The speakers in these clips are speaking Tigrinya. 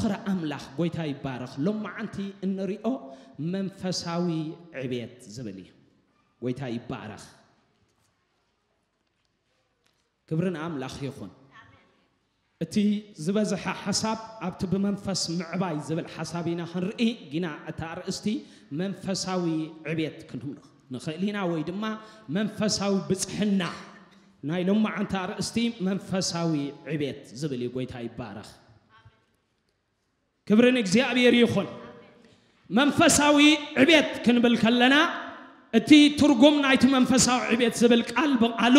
ፍቕሪ ኣምላኽ፣ ጎይታ ይባረኽ፣ ሎማዓንቲ እንሪኦ መንፈሳዊ ዕቤት ዝብል እዩ። ጎይታ ይባረኽ። ክብሪ ንኣምላኽ ይኹን። እቲ ዝበዝሐ ሓሳብ ኣብቲ ብመንፈስ ምዕባይ ዝብል ሓሳብ ኢና ክንርኢ፣ ግና እታ ኣርእስቲ መንፈሳዊ ዕቤት ክንብል ንኽእል ኢና፣ ወይ ድማ መንፈሳዊ ብጽሕና። ናይ ሎማዓንቲ ኣርእስቲ መንፈሳዊ ዕቤት ዝብል እዩ። ጎይታ ይባረኽ። ክብሪ ንእግዚኣብሔር ይኹን። መንፈሳዊ ዕቤት ክንብል ከለና፣ እቲ ትርጉም ናይቲ መንፈሳዊ ዕቤት ዝብል ቃል ብቓሉ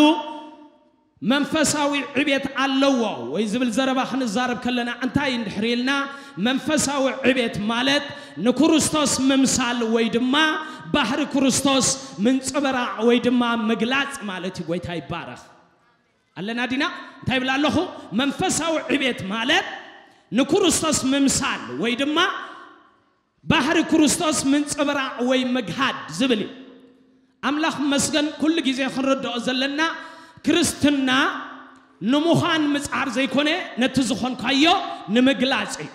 መንፈሳዊ ዕቤት ኣለዎ ወይ ዝብል ዘረባ ክንዛረብ ከለና፣ እንታይ እንድሕር ኢልና፣ መንፈሳዊ ዕቤት ማለት ንክርስቶስ ምምሳል ወይ ድማ ባህሪ ክርስቶስ ምንጽብራቕ ወይ ድማ ምግላጽ ማለት እዩ። ጎይታ ይባረኽ። ኣለና ዲና? እንታይ ይብል ኣለኹ? መንፈሳዊ ዕቤት ማለት ንክርስቶስ ምምሳል ወይ ድማ ባህሪ ክርስቶስ ምንጽብራቕ ወይ ምግሃድ ዝብል እዩ። ኣምላኽ መስገን፣ ኩሉ ግዜ ክንርድኦ ዘለና፣ ክርስትና ንምዃን ምጽዓር ዘይኮነ፣ ነቲ ዝኾንካዮ ንምግላጽ እዩ።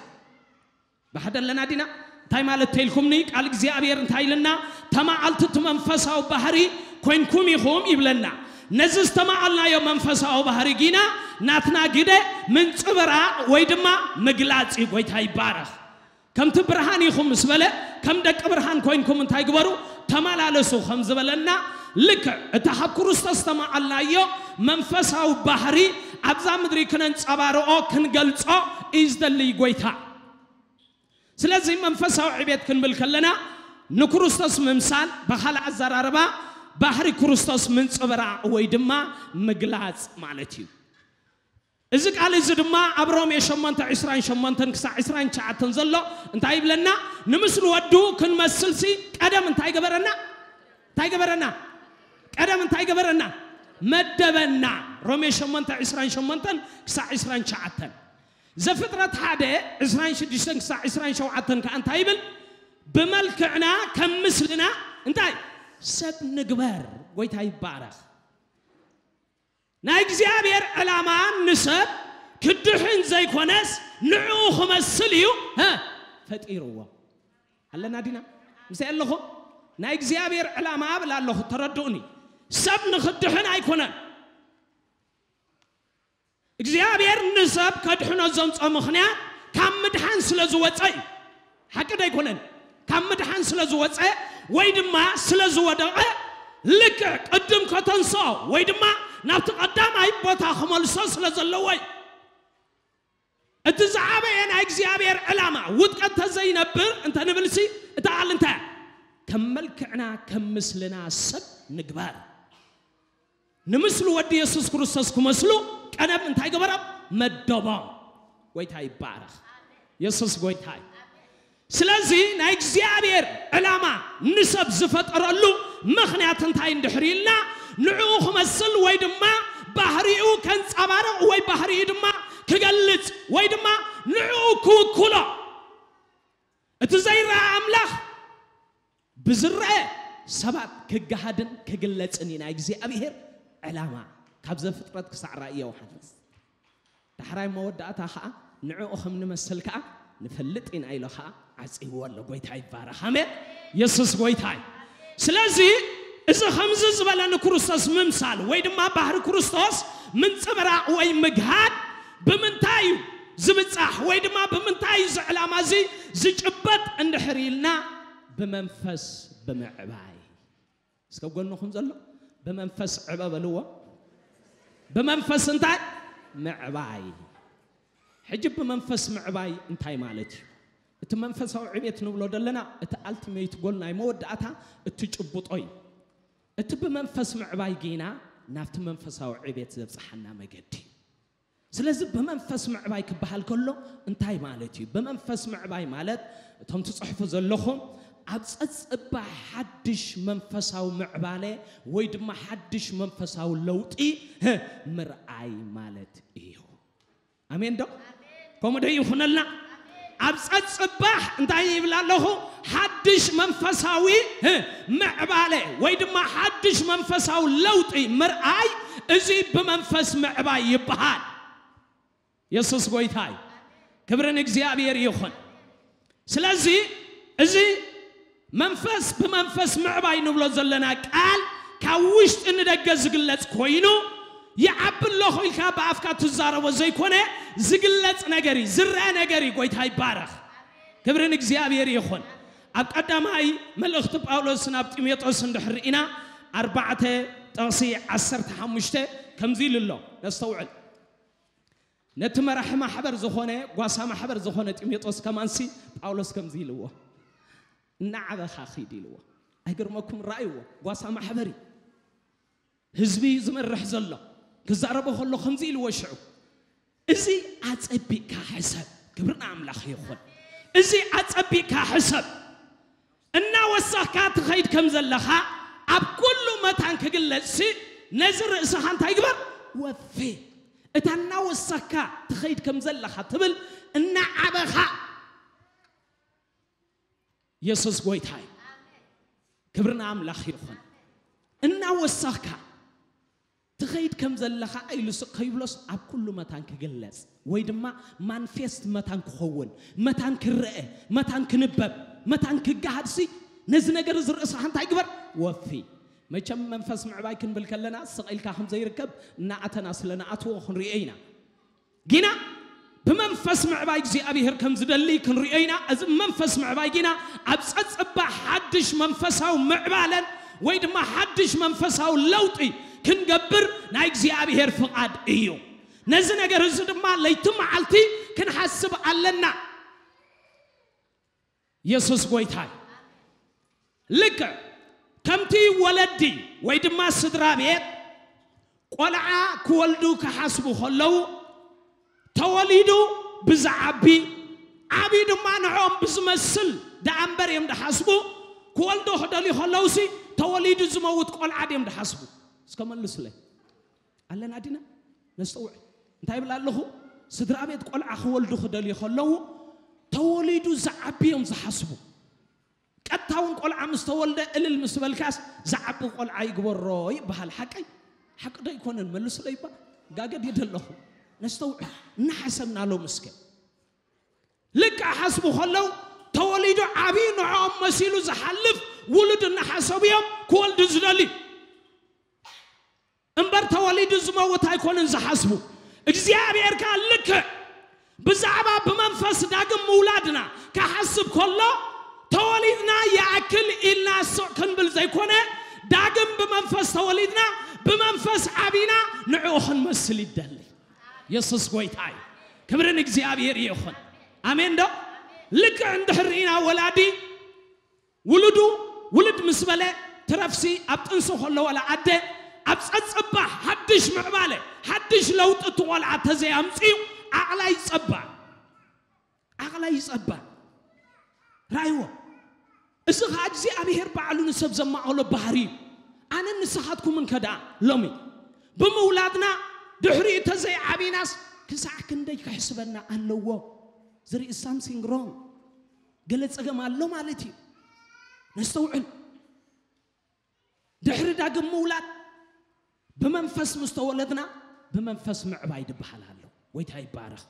ብሓደ ኣለና ዲና? እንታይ ማለት ተይልኩምኒ? ቃል እግዚኣብሔር እንታይ ኢልና? ተማዓልቲ እቲ መንፈሳዊ ባህሪ ኮይንኩም ኢኹም ይብለና። ነዚ ዝተማዓልናዮ መንፈሳዊ ባህሪ ጊና ናትና ግደ ምንጽብራቕ ወይ ድማ ምግላጽ እዩ። ጎይታ ይባረኽ። ከምቲ ብርሃን ኢኹም ምስ በለ፣ ከም ደቂ ብርሃን ኮይንኩም እንታይ ግበሩ? ተመላለሱ ከም ዝበለና፣ ልክዕ እታ ካብ ክርስቶስ ዝተማዓልናዮ መንፈሳዊ ባህሪ ኣብዛ ምድሪ ክነንጸባርቆ፣ ክንገልጾ እዩ ዝደሊ ጎይታ። ስለዚ መንፈሳዊ ዕቤት ክንብል ከለና፣ ንክርስቶስ ምምሳል፣ ብኻልእ ኣዘራርባ ባህሪ ክርስቶስ ምንጽብራቕ ወይ ድማ ምግላጽ ማለት እዩ። እዚ ቃል እዚ ድማ ኣብ ሮሜ ሸሞንተ ዕስራን ሸሞንተን ክሳዕ ዕስራን ትሽዓተን ዘሎ እንታይ ይብለና? ንምስሊ ወዱ ክንመስልሲ ቀደም እንታይ ገበረና? እንታይ ገበረና? ቀደም እንታይ ገበረና? መደበና። ሮሜ ሸሞንተ ዕስራን ሸሞንተን ክሳዕ ዕስራን ትሽዓተን። ዘፍጥረት ሓደ ዕስራን ሽዱሽተን ክሳዕ ዕስራን ሸውዓተን ከኣ እንታይ ይብል? ብመልክዕና ከም ምስልና እንታይ? ሰብ ንግበር። ጎይታ ይባረኽ። ናይ እግዚኣብሔር ዕላማ ንሰብ ክድሕን ዘይኮነስ ንዕኡ ክመስል እዩ፣ ሀ፣ ፈጢርዎ። ኣለና ዲና? ምሳይ ኣለኹም? ናይ እግዚኣብሔር ዕላማ እብል ኣለኹ፣ ተረድኡኒ። ሰብ ንኽድሕን ኣይኮነን። እግዚኣብሔር ንሰብ ከድሕኖ ዘምጾ ምኽንያት ካብ ምድሓን ስለ ዝወጸ እዩ። ሓቂ ዶ ኣይኮነን? ካብ ምድሓን ስለ ዝወጸ ወይ ድማ ስለ ዝወደቐ፣ ልክዕ ቅድም ከተንስኦ ወይ ድማ ናብቲ ቀዳማይ ቦታ ክመልሶ ስለ ዘለዎ እዩ። እቲ ዝዓበየ ናይ እግዚኣብሔር ዕላማ ውድቀት ተዘይነብር እንተ ንብልሲ፣ እታ ቃል እንታይ እያ? ከም መልክዕና ከም ምስልና ሰብ ንግበር። ንምስሊ ወዲ የሱስ ክርስቶስ ክመስሉ ቀደም እንታይ ገበሮም? መደቦም። ጎይታ ይባረኽ። የሱስ ጎይታ እዩ። ስለዚ ናይ እግዚኣብሔር ዕላማ ንሰብ ዝፈጠረሉ ምኽንያት እንታይ እንድሕር ኢልና፣ ንዕኡ ክመስል ወይ ድማ ባህሪኡ ከንጸባርቕ ወይ ባህሪኡ ድማ ክገልጽ ወይ ድማ ንዕኡ ክውክሎ። እቲ ዘይረኣ ኣምላኽ ብዝረአ ሰባት ክገሃድን ክግለጽን እዩ ናይ እግዚኣብሔር ዕላማ፣ ካብ ዘፍጥረት ክሳዕ ራእይ ዮሃንስ። ዳሕራይ መወዳእታ ኸዓ ንዕኡ ከም ንመስል ከኣ ንፈልጥ ኢና ኢሉ ኸዓ ዓጺዎ ኣሎ። ጎይታ ይባረኽ። ኣሜን። የሱስ ጎይታ እዩ። ስለዚ እዚ ከምዚ ዝበለ ንክርስቶስ ምምሳል ወይ ድማ ባህሪ ክርስቶስ ምንጽብራቕ ወይ ምግሃድ ብምንታይ እዩ ዝብጻሕ ወይ ድማ ብምንታይ እዩ እዚ ዕላማ እዚ ዝጭበጥ እንድሕር ኢልና፣ ብመንፈስ ብምዕባይ። እስከ ጎንኹም ዘሎ ብመንፈስ ዕበ በልዎ። ብመንፈስ እንታይ? ምዕባይ። ሕጂ ብመንፈስ ምዕባይ እንታይ ማለት እዩ? እቲ መንፈሳዊ ዕቤት ንብሎ ዘለና፣ እቲ ኣልቲሜት ጎል ናይ መወዳእታ፣ እቲ ጭቡጦ እዩ። እቲ ብመንፈስ ምዕባይ ጌና ናብቲ መንፈሳዊ ዕቤት ዘብጽሓና መገዲ እዩ። ስለዚ ብመንፈስ ምዕባይ ክበሃል ከሎ እንታይ ማለት እዩ? ብመንፈስ ምዕባይ ማለት፣ እቶም ትጽሕፉ ዘለኹም፣ ኣብ ጸጽባሕ ሓድሽ መንፈሳዊ ምዕባለ ወይ ድማ ሓድሽ መንፈሳዊ ለውጢ፣ ህ፣ ምርኣይ ማለት እዩ። ኣሜን ዶ? ከምኡ ዶ ይኹነልና? ኣብ ጸጽባሕ እንታይ ይብል ኣለኹ? ሓድሽ መንፈሳዊ፣ ህ፣ ምዕባለ ወይ ድማ ሓድሽ መንፈሳዊ ለውጢ ምርኣይ፣ እዚ ብመንፈስ ምዕባይ ይበሃል። የሱስ ጎይታ እዩ። ክብሪ ንእግዚኣብሔር ይኹን። ስለዚ እዚ መንፈስ ብመንፈስ ምዕባይ ንብሎ ዘለና ቃል ካብ ውሽጢ ንደገ ዝግለጽ ኮይኑ፣ ይዓቢ ኣለኹ ኢልካ ብኣፍካ ትዛረቦ ዘይኮነ፣ ዝግለጽ ነገር እዩ፣ ዝረአ ነገር እዩ። ጎይታ ይባረኽ። ክብሪ ንእግዚኣብሔር ይኹን። ኣብ ቀዳማይ መልእኽቲ ጳውሎስ ናብ ጢሞቴዎስ እንድሕር ርኢና፣ ኣርባዕተ ጥቕሲ ዓሰርተ ሓሙሽተ ከምዚ ኢሉ ኣሎ። ነስተውዕል። ነቲ መራሒ ማሕበር ዝኾነ፣ ጓሳ ማሕበር ዝኾነ ጢሞቴዎስ ከማንሲ ጳውሎስ ከምዚ ኢልዎ፣ እናዓበኻ ኺድ ኢልዎ። ኣይገርመኩም? ረኣይዎ፣ ጓሳ ማሕበር እዩ። ህዝቢ እዩ ዝመርሕ ዘሎ። ክዛረቦ ከሎ ከምዚ ኢልዎ ሽዑ፣ እዚ ኣጸቢቕካ ሕሰብ። ክብሪ ንኣምላኽ ይኹን። እዚ ኣጸቢቕካ ሕሰብ። እናወሰኽካ ትኸይድ ከም ዘለኻ ኣብ ኩሉ መታን ክግለጽሲ፣ ነዚ ርእስኻ እንታይ ግበር? ወፊ። እታ እናወሰኽካ ትኸይድ ከም ዘለኻ ትብል እናዓበኻ። የሱስ ጎይታ እዩ። ክብሪ ንኣምላኽ ይኹን። እናወሰኽካ ትኸይድ ከም ዘለኻ ኢሉስ ከይብሎስ ኣብ ኩሉ መታን ክግለጽ ወይ ድማ ማንፌስት መታን ክኸውን፣ መታን ክረአ፣ መታን ክንበብ፣ መታን ክገሃድሲ፣ ነዚ ነገር እዚ ርእስኻ እንታይ ግበር? ወፊ። መቸም መንፈስ ምዕባይ ክንብል ከለና ስቕ ኢልካ ከም ዘይርከብ እናኣተና ስለ ንኣትዎ ክንሪኦ ኢና። ጊና ብመንፈስ ምዕባይ እግዚኣብሔር ከም ዝደሊ ክንሪኦ ኢና። እዚ መንፈስ ምዕባይ ጊና ኣብ ጸጽባ ሓድሽ መንፈሳዊ ምዕባለን ወይ ድማ ሓድሽ መንፈሳዊ ለውጢ ክንገብር ናይ እግዚኣብሔር ፍቓድ እዩ። ነዚ ነገር እዚ ድማ ለይቲ መዓልቲ ክንሓስብ ኣለና። የሱስ ጎይታ እዩ። ልክዕ ከምቲ ወለዲ ወይ ድማ ስድራ ቤት ቆልዓ ክወልዱ ክሓስቡ ከለዉ፣ ተወሊዱ ብዝዓቢ፣ ዓብዩ ድማ ንዕኦም ብዝመስል ደኣ እምበር እዮም ድሓስቡ። ክወልዱ ክደልዩ ከለዉሲ ተወሊዱ ዝመውት ቆልዓ ድዮም ድሓስቡ? እስከ መልሱለይ። ኣለና ዲና? ነስተውዕል። እንታይ ይብል ኣለኹ? ስድራ ቤት ቆልዓ ክወልዱ ክደልዩ ከለዉ፣ ተወሊዱ ዝዓቢ እዮም ዝሓስቡ። ቀጥታ እውን ቆልዓ ምስ ተወልደ እልል ምስ በልካስ፣ ዝዓቢ ቆልዓ ይግበሮ ይበሃል። ሓቀይ? ሓቂ ዶ ኣይኮነን? መልሱለይ እባ። ጋገ ድየ ደለኹ? ነስተውዕል። እናሓሰብና ሎም እስከ። ልክዕ ሓስቡ ከለዉ፣ ተወሊዱ ዓብዩ ንዕኦም መሲሉ ዝሓልፍ ውሉድ እናሓሰቡ እዮም ክወልዱ ዝደልዩ። እምበር ተወሊዱ ዝመውት ኣይኮነን ዝሓስቡ። እግዚኣብሔር ከኣ ልክዕ ብዛዕባ ብመንፈስ ዳግም ምውላድና ክሓስብ ከሎ፣ ተወሊድና ይኣክል ኢልና ስቕ ክንብል ዘይኮነ፣ ዳግም ብመንፈስ ተወሊድና፣ ብመንፈስ ዓቢና ንዕኡ ክንመስል ይደሊ። የሱስ ጎይታ እዩ። ክብሪ ንእግዚኣብሔር ይኹን። ኣሜን ዶ? ልክዕ እንድሕር ርኢና ወላዲ ውሉዱ ውልድ ምስ በለ ትረፍሲ ኣብ ጥንሲ ከሎ ዋላ ኣደ ኣብ ጸጽባ ሓድሽ ምዕባለ፣ ሓድሽ ለውጢ እቲ ቆልዓ ተዘይኣምጽኡ ዓቕላ ይጸባ። ዓቕላ ይጸባ። ረኣይዎ። እዚ ኸኣ እግዚኣብሔር ባዕሉ ንሰብ ዘማቐሎ ባህሪ እዩ። ኣነን ንስኻትኩምን ከ ደኣ ሎሚ ብምውላድና ድሕሪኡ ተዘይዓቢናስ ክሳዕ ክንደይ ክሕስበና ኣለዎ? There is something wrong። ገለ ጸገም ኣሎ ማለት እዩ። ነስተውዕል። ድሕሪ ዳግም ምውላድ ብመንፈስ ምስ ተወለድና ብመንፈስ ምዕባይ ድበሃል ኣሎ። ጎይታ ይባረኽ።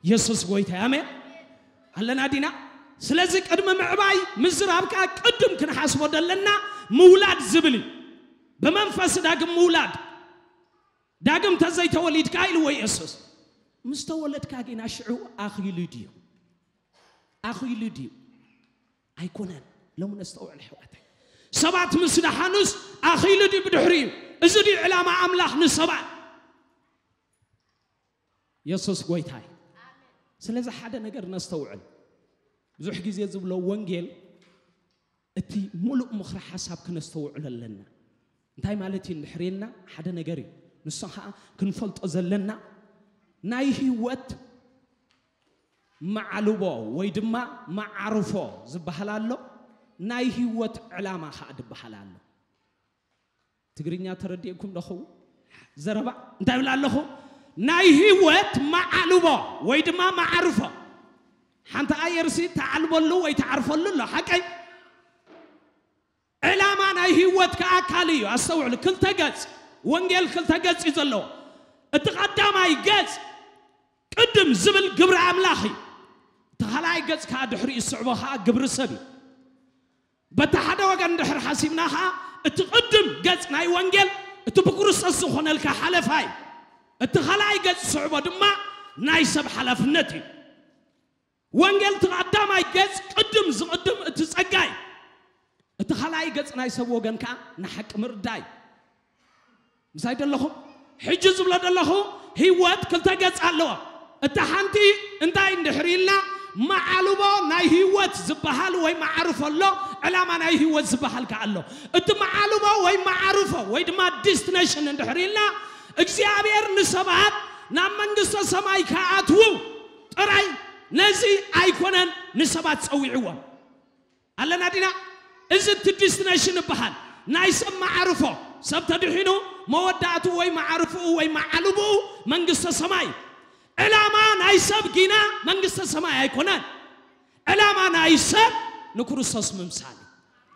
የሱስ ጎይታ እዩ። ኣሜን። ኣለና ዲና? ስለዚ ቅድሚ ምዕባይ ምዝራብ ከኣ ቅድም ክንሓስቦ ደለና ምውላድ ዝብል እዩ። ብመንፈስ ዳግም ምውላድ። ዳግም ተዘይተወሊድካ ኢልዎ የሱስ። ምስ ተወለድካ ጊና ሽዑ ኣኺሉ ድዩ? ኣኺሉ ድዩ? ኣይኮነን። ሎሚ ነስተውዕል ኣሕዋተይ። ሰባት ምስ ደሓኑስ ኣኺሉ ድዩ ብድሕሪኡ? እዚ ድዩ ዕላማ ኣምላኽ ንሰባት? የሱስ ጎይታ እዩ። ስለዚ ሓደ ነገር ነስተውዕል። ብዙሕ ግዜ ዝብሎ ወንጌል እቲ ሙሉእ ምኽሪ ሓሳብ ክነስተውዕሎ ኣለና። እንታይ ማለት እዩ እንድሕር ኢልና ሓደ ነገር እዩ። ንሱ ኸኣ ክንፈልጦ ዘለና ናይ ህይወት መዓልቦ ወይ ድማ መዓርፎ ዝበሃል ኣሎ። ናይ ህይወት ዕላማ ኸኣ ዝበሃል ኣሎ። ትግርኛ ተረዲእኩም ዶ ኸውን? ዘረባ እንታይ ይብል ኣለኹ? ናይ ህይወት መዓልቦ ወይ ድማ መዓርፎ። ሓንቲ ኣየርሲ ተዓልበሉ ወይ ተዓርፈሉ ኣሎ። ሓቀይ? ዕላማ ናይ ህይወትካ ኣካል እዩ። ኣስተውዕሉ፣ ክልተ ገጽ፣ ወንጌል ክልተ ገጽ እዩ ዘለዎ። እቲ ቀዳማይ ገጽ ቅድም ዝብል ግብሪ ኣምላኽ እዩ። እቲ ኻልኣይ ገጽ ከዓ ድሕሪኡ ዝስዕቦ ኸዓ ግብሪ ሰብ እዩ። በቲ ሓደ ወገን ድሕሪ ሓሲብና ኸዓ እቲ ቅድም ገጽ ናይ ወንጌል እቲ ብክርስቶስ ዝኾነልካ ሓለፋ እዩ። እቲ ኻልኣይ ገጽ ዝስዕቦ ድማ ናይ ሰብ ሓላፍነት እዩ። ወንጌል እቲ ቀዳማይ ገጽ ቅድም ዝቕድም እቲ ጸጋ እዩ። እቲ ኻልኣይ ገጽ ናይ ሰብ ወገን ከዓ ንሓቂ ምርዳእ እዩ። ምሳይ ደለኹም? ሕጂ ዝብሎ ደለኹ ህይወት ክልተ ገጽ ኣለዎ። እታ ሓንቲ እንታይ እንድሕር ኢልና መዓልቦ ናይ ህይወት ዝበሃል ወይ መዓርፎ ኣሎ፣ ዕላማ ናይ ህይወት ዝበሃል ከኣ ኣሎ። እቲ መዓልቦ ወይ መዓርፎ ወይ ድማ ዲስቲኔሽን እንድሕር ኢልና እግዚኣብሔር ንሰባት ናብ መንግስተ ሰማይ ከኣትዉ ጥራይ ነዚ ኣይኮነን ንሰባት ጸዊዕዎም። ኣለና ዲና? እዚ እቲ ዲስቲኔሽን ይበሃል። ናይ ሰብ መዓርፎ፣ ሰብ ተድሒኑ መወዳእቱ ወይ መዓርፍኡ ወይ መዓልብኡ መንግስተ ሰማይ። ዕላማ ናይ ሰብ ጊና መንግስተ ሰማይ ኣይኮነን። ዕላማ ናይ ሰብ ንክርስቶስ ምምሳል እዩ።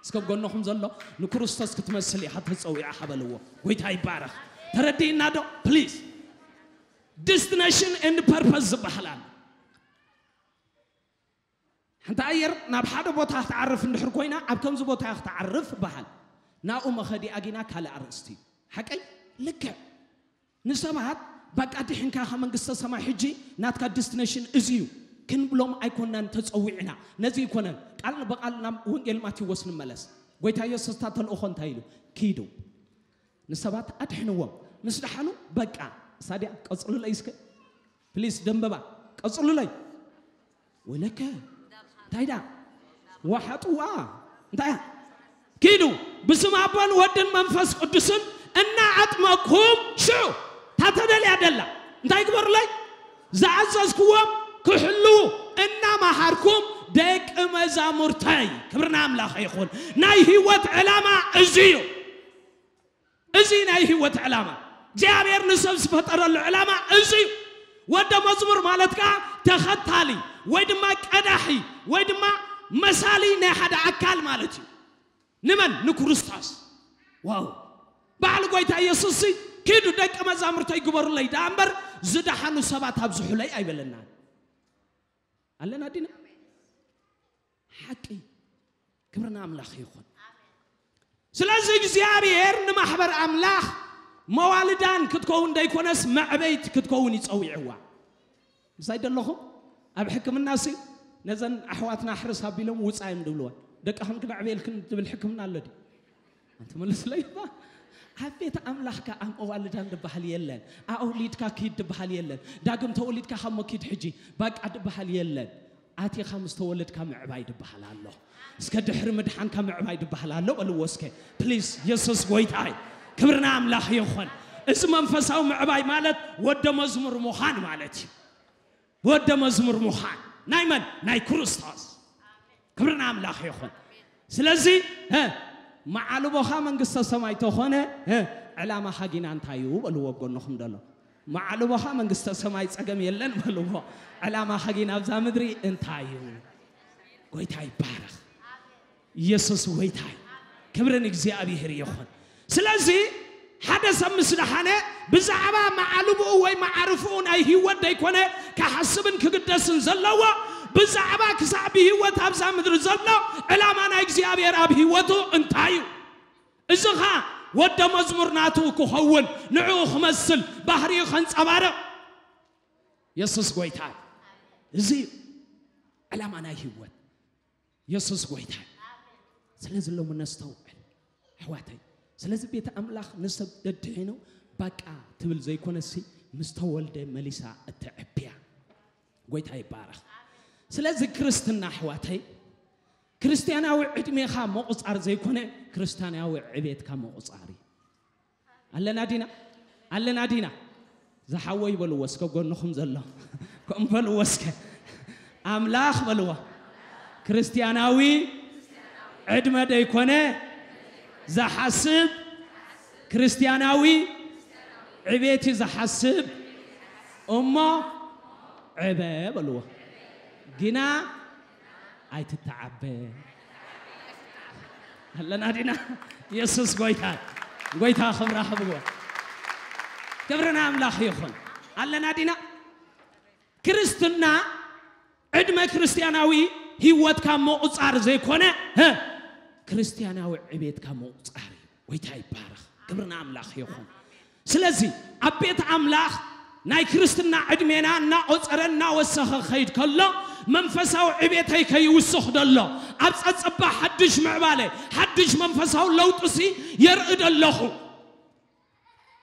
እስከ ጎንኹም ዘሎ ንክርስቶስ ክትመስል ኢኻ ተጸዊዕኻ በልዎ። ጎይታ ይባረኽ። ተረዲእና ዶ? ፕሊዝ። ዲስቲኔሽን ኤንድ ፐርፐስ ዝበሃል ኣሎ። ሓንቲ ኣየር ናብ ሓደ ቦታ ክትዓርፍ እንድሕር ኮይና ኣብ ከምዚ ቦታ እያ ክትዓርፍ በሃል። ናብኡ መኸዲኣ ጊና ካልእ ኣርእስቲ እዩ። ሓቀይ? ልክዕ። ንሰባት በቃ ድሕንካ ካብ መንግስተ ሰማይ ሕጂ ናትካ ዲስቲኔሽን እዚ እዩ ክንብሎም ኣይኮናን ተጸዊዕና። ነዚ ኣይኮነን። ቃል ብቓል ናብ ወንጌል ማቴዎስ ንመለስ። ጎይታ ኢየሱስ እታ ተልእኾ እንታይ ኢሉ? ኪዱ ንሰባት ኣድሕንዎም። ምስ ደሓኑ በቃ። እሳ ድያ? ቀጽሉለይ እስከ ፕሊስ ደንበባ ቀጽሉለይ። ወለከ እንታይ ዳ ወሓጥዋ እንታይ እያ? ኪዱ ብስም ኣቦን ወድን መንፈስ ቅዱስን እናኣጥመቅኩም ሽዑ ታተደልያ ደላ እንታይ ግበሩለይ? ዝኣዘዝክዎም ክሕልዉ እናመሃርኩም ደቂ መዛሙርተይ። ክብርና ኣምላኽ ይኹን። ናይ ህይወት ዕላማ እዚ እዩ። እዚ ናይ ህይወት ዕላማ እግዚኣብሔር ንሰብ ዝፈጠረሉ ዕላማ እዚ እዩ። ወደ መዝሙር ማለት ከዓ ተኸታሊ ወይ ድማ ቀዳሒ ወይ ድማ መሳሊ ናይ ሓደ ኣካል ማለት እዩ። ንመን? ንክርስቶስ። ዋው! በዓል ጎይታ ኢየሱስ ሲ ኪዱ ደቂ መዛሙርተይ ግበሩለይ ደኣ እምበር ዝደሓኑ ሰባት ኣብዝሑለይ ኣይበለናን። ኣለና ዲና? ሓቂ። ክብርና ኣምላኽ ይኹን። ስለዚ እግዚኣብሔር ንማሕበር ኣምላኽ መዋልዳን ክትከውን ደይኮነስ መዕበይት ክትከውን ይጸዊዕዋ። ምሳይ ደለኹም? ኣብ ሕክምና ሲ ነዘን ኣሕዋትና ሕርስ ኣቢሎም ውፃ እዮም ድብልወን። ደቅኽን ክነዕብየልክን ትብል ሕክምና ኣሎ ድዩ? ኣንተ መልስለይ እባ። ኣብ ቤት ኣምላኽካ ኣብ መዋልዳን ድበሃል የለን። ኣወሊድካ ኪድ ድበሃል የለን። ዳግም ተወሊድካ ካብ መኪድ ሕጂ ባቃ ድበሃል የለን። ኣቲኻ ምስ ተወለድካ ምዕባይ ድበሃል ኣሎ። እስከ ድሕሪ ምድሓንካ ምዕባይ ድበሃል ኣሎ በልዎ እስከ። ፕሊዝ፣ የሱስ ጎይታይ። ክብርና ኣምላኽ ይኹን። እዚ መንፈሳዊ ምዕባይ ማለት ወደ መዝሙር ምዃን ማለት እዩ። ወደ መዝሙር ምዃን ናይ መን? ናይ ክርስቶስ። ክብርና ኣምላኽ ይኹን። ስለዚ እ፣ መዓልቦኻ መንግስተ ሰማይ ተኾነ እ፣ ዕላማኻ ጊና እንታይ እዩ በልዎ ጎንኹም ደሎ። መዓልቦኻ መንግስተ ሰማይ ጸገም የለን በልዎ። ዕላማኻ ጊና ኣብዛ ምድሪ እንታይ እዩ? ጎይታ ይባረኽ። ኢየሱስ ጎይታ እዩ። ክብሪ ንእግዚኣብሔር ይኹን። ስለዚ ሓደ ሰብ ምስ ደሓነ ብዛዕባ መዓልብኡ ወይ መዓርፍኡ ናይ ህይወት ደይኮነ ክሓስብን ክግደስን ዘለዎ ብዛዕባ ክሳዕ ብህይወት ኣብዛ ምድሪ ዘሎ ዕላማ ናይ እግዚኣብሔር ኣብ ህይወቱ እንታይ እዩ? እዚ ኸዓ ወደ መዝሙር ናቱ ክኸውን ንዕኡ ክመስል ባህሪኡ ከንጸባርቕ የሱስ ጎይታ እዩ። እዚ እዩ ዕላማ ናይ ህይወት። የሱስ ጎይታ እዩ። ስለዚ ሎሚ ነስተውዕል ኣሕዋተይ። ስለዚ ቤተ ኣምላኽ ንሰብ ደድሒኑ ባቃ ትብል ዘይኮነሲ ምስ ተወልደ መሊሳ እተዕብያ። ጎይታ ይባረኽ። ስለዚ ክርስትና ኣሕዋተይ ክርስትያናዊ ዕድሜኻ ምቑጻር ዘይኮነ ክርስትያናዊ ዕቤትካ ምቑጻር እዩ። ኣለና ዲና? ኣለና ዲና? ዝሓወይ በልዎ እስከ ጎንኹም ዘሎ። ከም በልዎ እስከ። ኣምላኽ በልዎ። ክርስትያናዊ ዕድመ ደይኮነ ዝሓስብ ክርስትያናዊ ዕቤት እዩ ዝሓስብ እሞ ዕበ በልዎ። ግና ኣይትተዓበ። ኣለና ዲና? የሱስ ጎይታ። ጎይታ ክብራ ክብዎ። ክብሪ ንኣምላኽ ይኹን። ኣለና ዲና? ክርስትና ዕድመ ክርስትያናዊ ህይወትካ ምቑጻር ዘይኮነ፣ ህ፣ ክርስትያናዊ ዕቤትካ ምቑጻር እዩ። ጎይታ ይባረኽ። ክብሪ ንኣምላኽ ይኹን። ስለዚ ኣብ ቤት ኣምላኽ ናይ ክርስትና ዕድሜና እናቖጸረ እናወሰኸ ኸይድ ከሎ መንፈሳዊ ዕቤተይ ከይውስኽ ደሎ ኣብ ጸጸባ ሓድሽ ምዕባለ ሓድሽ መንፈሳዊ ለውጥሲ የርኢ ደለኹ።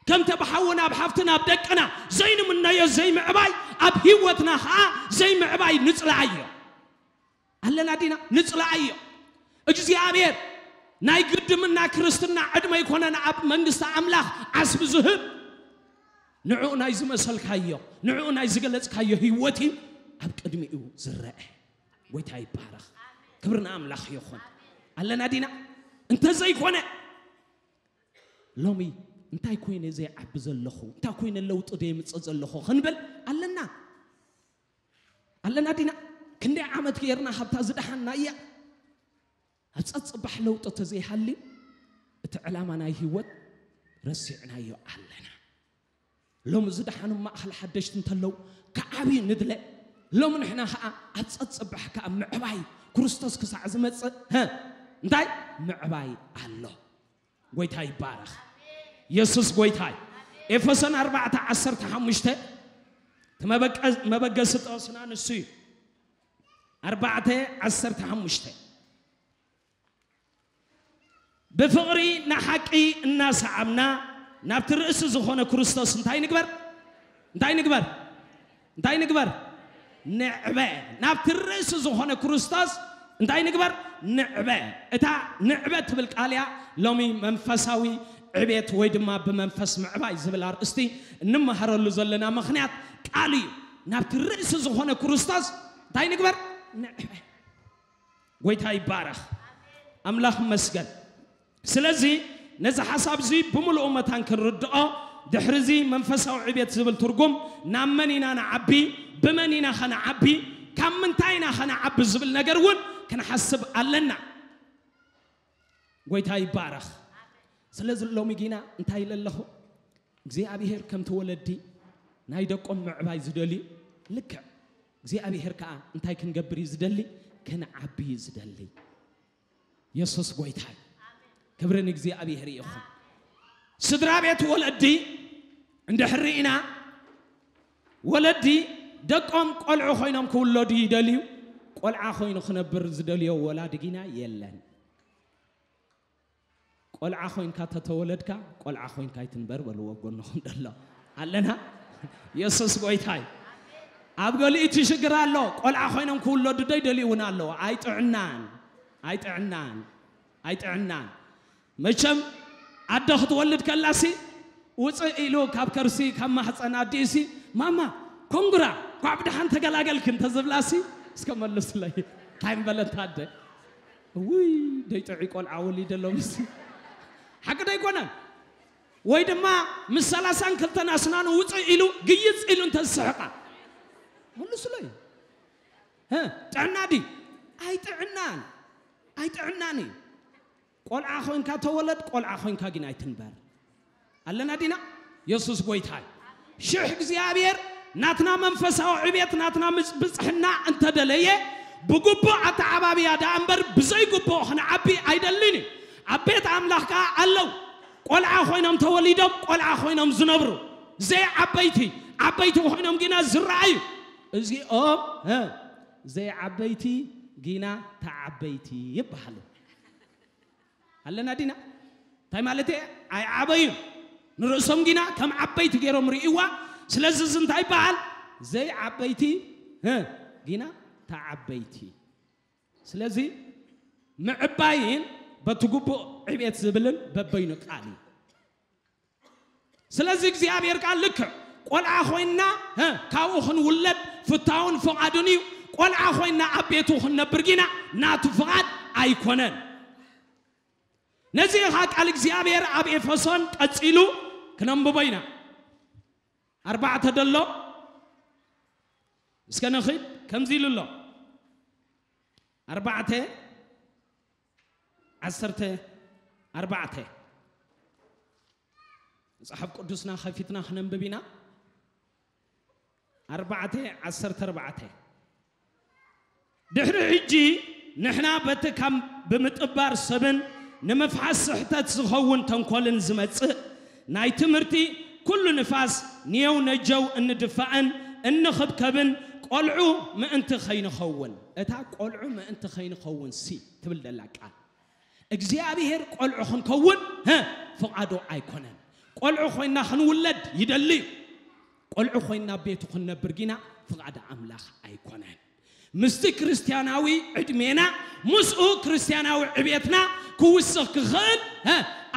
ከምቲ ኣብ ሓውና ኣብ ሓፍትና ኣብ ደቅና ዘይንምነዮ ዘይምዕባይ ኣብ ህይወትና ኸዓ ዘይምዕባይ ንጽልኣዮ ኣለና ዲና ንጽልኣዮ። እግዚኣብሔር ናይ ግድምና ክርስትና ዕድመ ኣይኮነን ኣብ መንግስቲ ኣምላኽ ዓስቢ ዝህብ። ንዕኡ ናይ ዝመሰልካዮ ንዕኡ ናይ ዝገለጽካዮ ህይወት እዩ ኣብ ቅድሚኡ ዝረአ። ጎይታ ይባረኽ። ክብሪ ንኣምላኽ ይኹን። ኣለና ዲና እንተዘይኮነ ሎሚ እንታይ ኮይነ ዘይዓቢ ዘለኹ እንታይ ኮይነ ለውጢ ደየምፅእ ዘለኹ ክንብል ኣለና ኣለና ዲና። ክንደይ ዓመት ገይርና ካብታ ዝደሓና እያ። ኣብ ፀፅባሕ ለውጢ ተዘይሃልዩ እቲ ዕላማ ናይ ህይወት ረሲዕናዮ ኣለና። ሎሚ ዝደሓኑ ማእኸል ሓደሽቲ እንተለዉ ክዓብዩ ንድለ። ሎሚ ንሕና ከዓ ኣብ ፀፅባሕ ከዓ ምዕባይ ክርስቶስ ክሳዕ ዝመፅእ ሀ እንታይ ምዕባይ ኣሎ። ጎይታ ይባረኽ። የሱስ ጎይታ እዩ። ኤፌሶን ኣርባዕተ ዓሰርተ ሓሙሽተ እቲ መበቀ- መበገሲ ጥቕስና ንሱ እዩ። ኣርባዕተ ዓሰርተ ሓሙሽተ ብፍቕሪ ንሓቂ እናሰዓብና ናብቲ ርእሲ ዝኾነ ክርስቶስ እንታይ ንግበር እንታይ ንግበር እንታይ ንግበር ንዕበ ናብቲ ርእሲ ዝኾነ ክርስቶስ እንታይ ንግበር ንዕበ እታ ንዕበ ትብል ቃል እያ ሎሚ መንፈሳዊ ዕቤት ወይ ድማ ብመንፈስ ምዕባይ ዝብል ኣርእስቲ እንመሃረሉ ዘለና ምኽንያት ቃል እዩ ናብቲ ርእሲ ዝኾነ ክርስቶስ እንታይ ንግበር ንዕበ ጎይታ ይባረኽ ኣምላኽ መስገን ስለዚ ነዚ ሓሳብ እዚ ብምሉኡ መታን ክንርድኦ ድሕርዚ መንፈሳዊ ዕቤት ዝብል ትርጉም ናብ መን ኢና ንዓቢ ብመን ኢና ኸነዓቢ ካብ ምንታይ ኢና ኸነዓቢ ዝብል ነገር እውን ክንሓስብ ኣለና ጎይታ ይባረኽ ስለዚ ሎሚ ጊና እንታይ ኢለ ኣለኹ እግዚኣብሔር ከምቲ ወለዲ ናይ ደቆም ምዕባይ ዝደልዩ ልክዕ እግዚኣብሔር ከዓ እንታይ ክንገብር እዩ ዝደሊ ክንዓቢ እዩ ዝደሊ የሱስ ጎይታ እዩ። ክብሪ ንእግዚኣብሔር ይኹን። ስድራ ቤት ወለዲ እንድሕር ርኢና ወለዲ ደቆም ቆልዑ ኮይኖም ክውለዱ ይደልዩ። ቆልዓ ኮይኑ ክነብር ዝደልዮ ወላዲ ጊና የለን። ቆልዓ ኮይንካ ተተወለድካ ቆልዓ ኮይንካ ይትንበር በልዎ ጎንኹም ደሎ ኣለና። የሱስ ጎይታ እዩ። ኣብ ገሊኡ እቲ ሽግር ኣሎ። ቆልዓ ኮይኖም ክውለዱ ዶ ይደልዩ እውን ኣለዉ። ኣይጥዕናን ኣይጥዕናን ኣይጥዕናን። መቸም ኣደ ክትወልድ ከላሲ ውፅእ ኢሉ ካብ ከርሲ ካብ ማሕፀን ኣዲኡሲ ማማ ኮንግራ ኳዕ ብድሓን ተገላገልኪ እንተዝብላሲ እስከ መልስለይ እንታይ ምበለታ ኣደ ውይ ደይጥዑይ ቆልዓ ወሊደ ሎምሲ ሓቂ ዶ ኣይኮነን? ወይ ድማ ምስ ሰላሳን ክልተን ኣስናኑ ውፅእ ኢሉ ግይፅ ኢሉ እንተዝስሕቃ መልስለይ ጥዕና ድዩ? ኣይጥዕናን ኣይጥዕናን እዩ። ቆልዓ ኮይንካ ተወለድ ቆልዓ ኮይንካ ግን ኣይትንበር ኣለና ዲና የሱስ ጎይታ እዩ ሽሕ እግዚኣብሔር ናትና መንፈሳዊ ዕቤት ናትና ብፅሕና እንተደለየ ብግቡእ ኣተዓባብያ ደኣ እምበር ብዘይግቡእ ክንዓቢ ኣይደልን እዩ ኣብ ቤት ኣምላኽ ከዓ ኣለዉ ቆልዓ ኮይኖም ተወሊዶም ቆልዓ ኮይኖም ዝነብሩ ዘይዓበይቲ ዓበይቲ ኮይኖም ግና ዝረኣዩ እዚኦም ዘይዓበይቲ ግና ተዓበይቲ ይበሃሉ ኣለና ዲና እንታይ ማለት እየ ኣይዓበዩን ንርእሶም ግና ከም ዓበይቲ ገይሮም ርእይዋ ስለዚ እዚ እንታይ ይበሃል ዘይዓበይቲ ግና ተዓበይቲ ስለዚ ምዕባይን በቲ ግቡእ ዕቤት ዝብልን በበይኑ ቃል እዩ ስለዚ እግዚኣብሔር ከዓ ልክዕ ቆልዓ ኮይንና ካብኡ ክንውለድ ፍታውን ፍቓዱን እዩ ቆልዓ ኮይንና ኣብ ቤቱ ክንነብር ግና ናቱ ፍቓድ ኣይኮነን ነዚ ኢኻ ቃል እግዚኣብሔር ኣብ ኤፌሶን ቀጺሉ ክነንብቦ ኢና ኣርባዕተ ደሎ እስከ ንኺድ ከምዚ ኢሉ ኣሎ ኣርባዕተ ዓሰርተ ኣርባዕተ መጽሓፍ ቅዱስና ከፊትና ክነንብብ ኢና ኣርባዕተ ዓሰርተ ኣርባዕተ ድሕሪ ሕጂ ንሕና በቲ ካብ ብምጥባር ሰብን ንምፍሓስ ስሕተት ዝኸውን ተንኮልን ዝመጽእ ናይ ትምህርቲ ኩሉ ንፋስ ንየው ነጀው እንድፋእን እንኽብከብን ቆልዑ ምእንቲ ኸይንኸውን፣ እታ ቆልዑ ምእንቲ ኸይንኸውን ሲ ትብል ደላ ቃል እግዚኣብሔር ቆልዑ ክንከውን ፍቓዱ ኣይኮነን። ቆልዑ ኮይና ክንውለድ ይደሊ እዩ። ቆልዑ ኮይና ቤቱ ክንነብር ግና ፍቓድ ኣምላኽ ኣይኮነን። ምስቲ ክርስትያናዊ ዕድሜና ምስኡ ክርስትያናዊ ዕቤትና ክውስኽ ክኽእል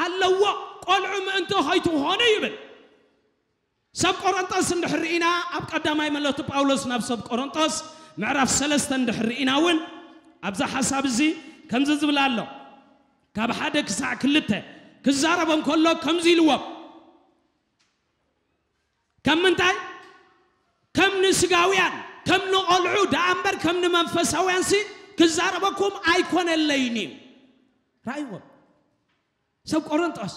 ኣለዎ። ቆልዑ ምእንቲ ኸይትኾኑ ይብል። ሰብ ቆሮንጦስ እንድሕር ርኢና ኣብ ቀዳማይ መልእኽቲ ጳውሎስ ናብ ሰብ ቆሮንጦስ ምዕራፍ ሰለስተ እንድሕር ርኢና እውን ኣብዛ ሓሳብ እዚ ከምዚ ዝብል ኣሎ። ካብ ሓደ ክሳዕ ክልተ ክዛረቦም ከሎ ከምዚ ኢልዎም፣ ከም ምንታይ ከም ንስጋውያን ከም ንቆልዑ ደኣ እምበር ከም ንመንፈሳውያን ሲ ክዛረበኩም ኣይኮነለይን እዩ። ራእይዎም ሰብ ቆሮንጦስ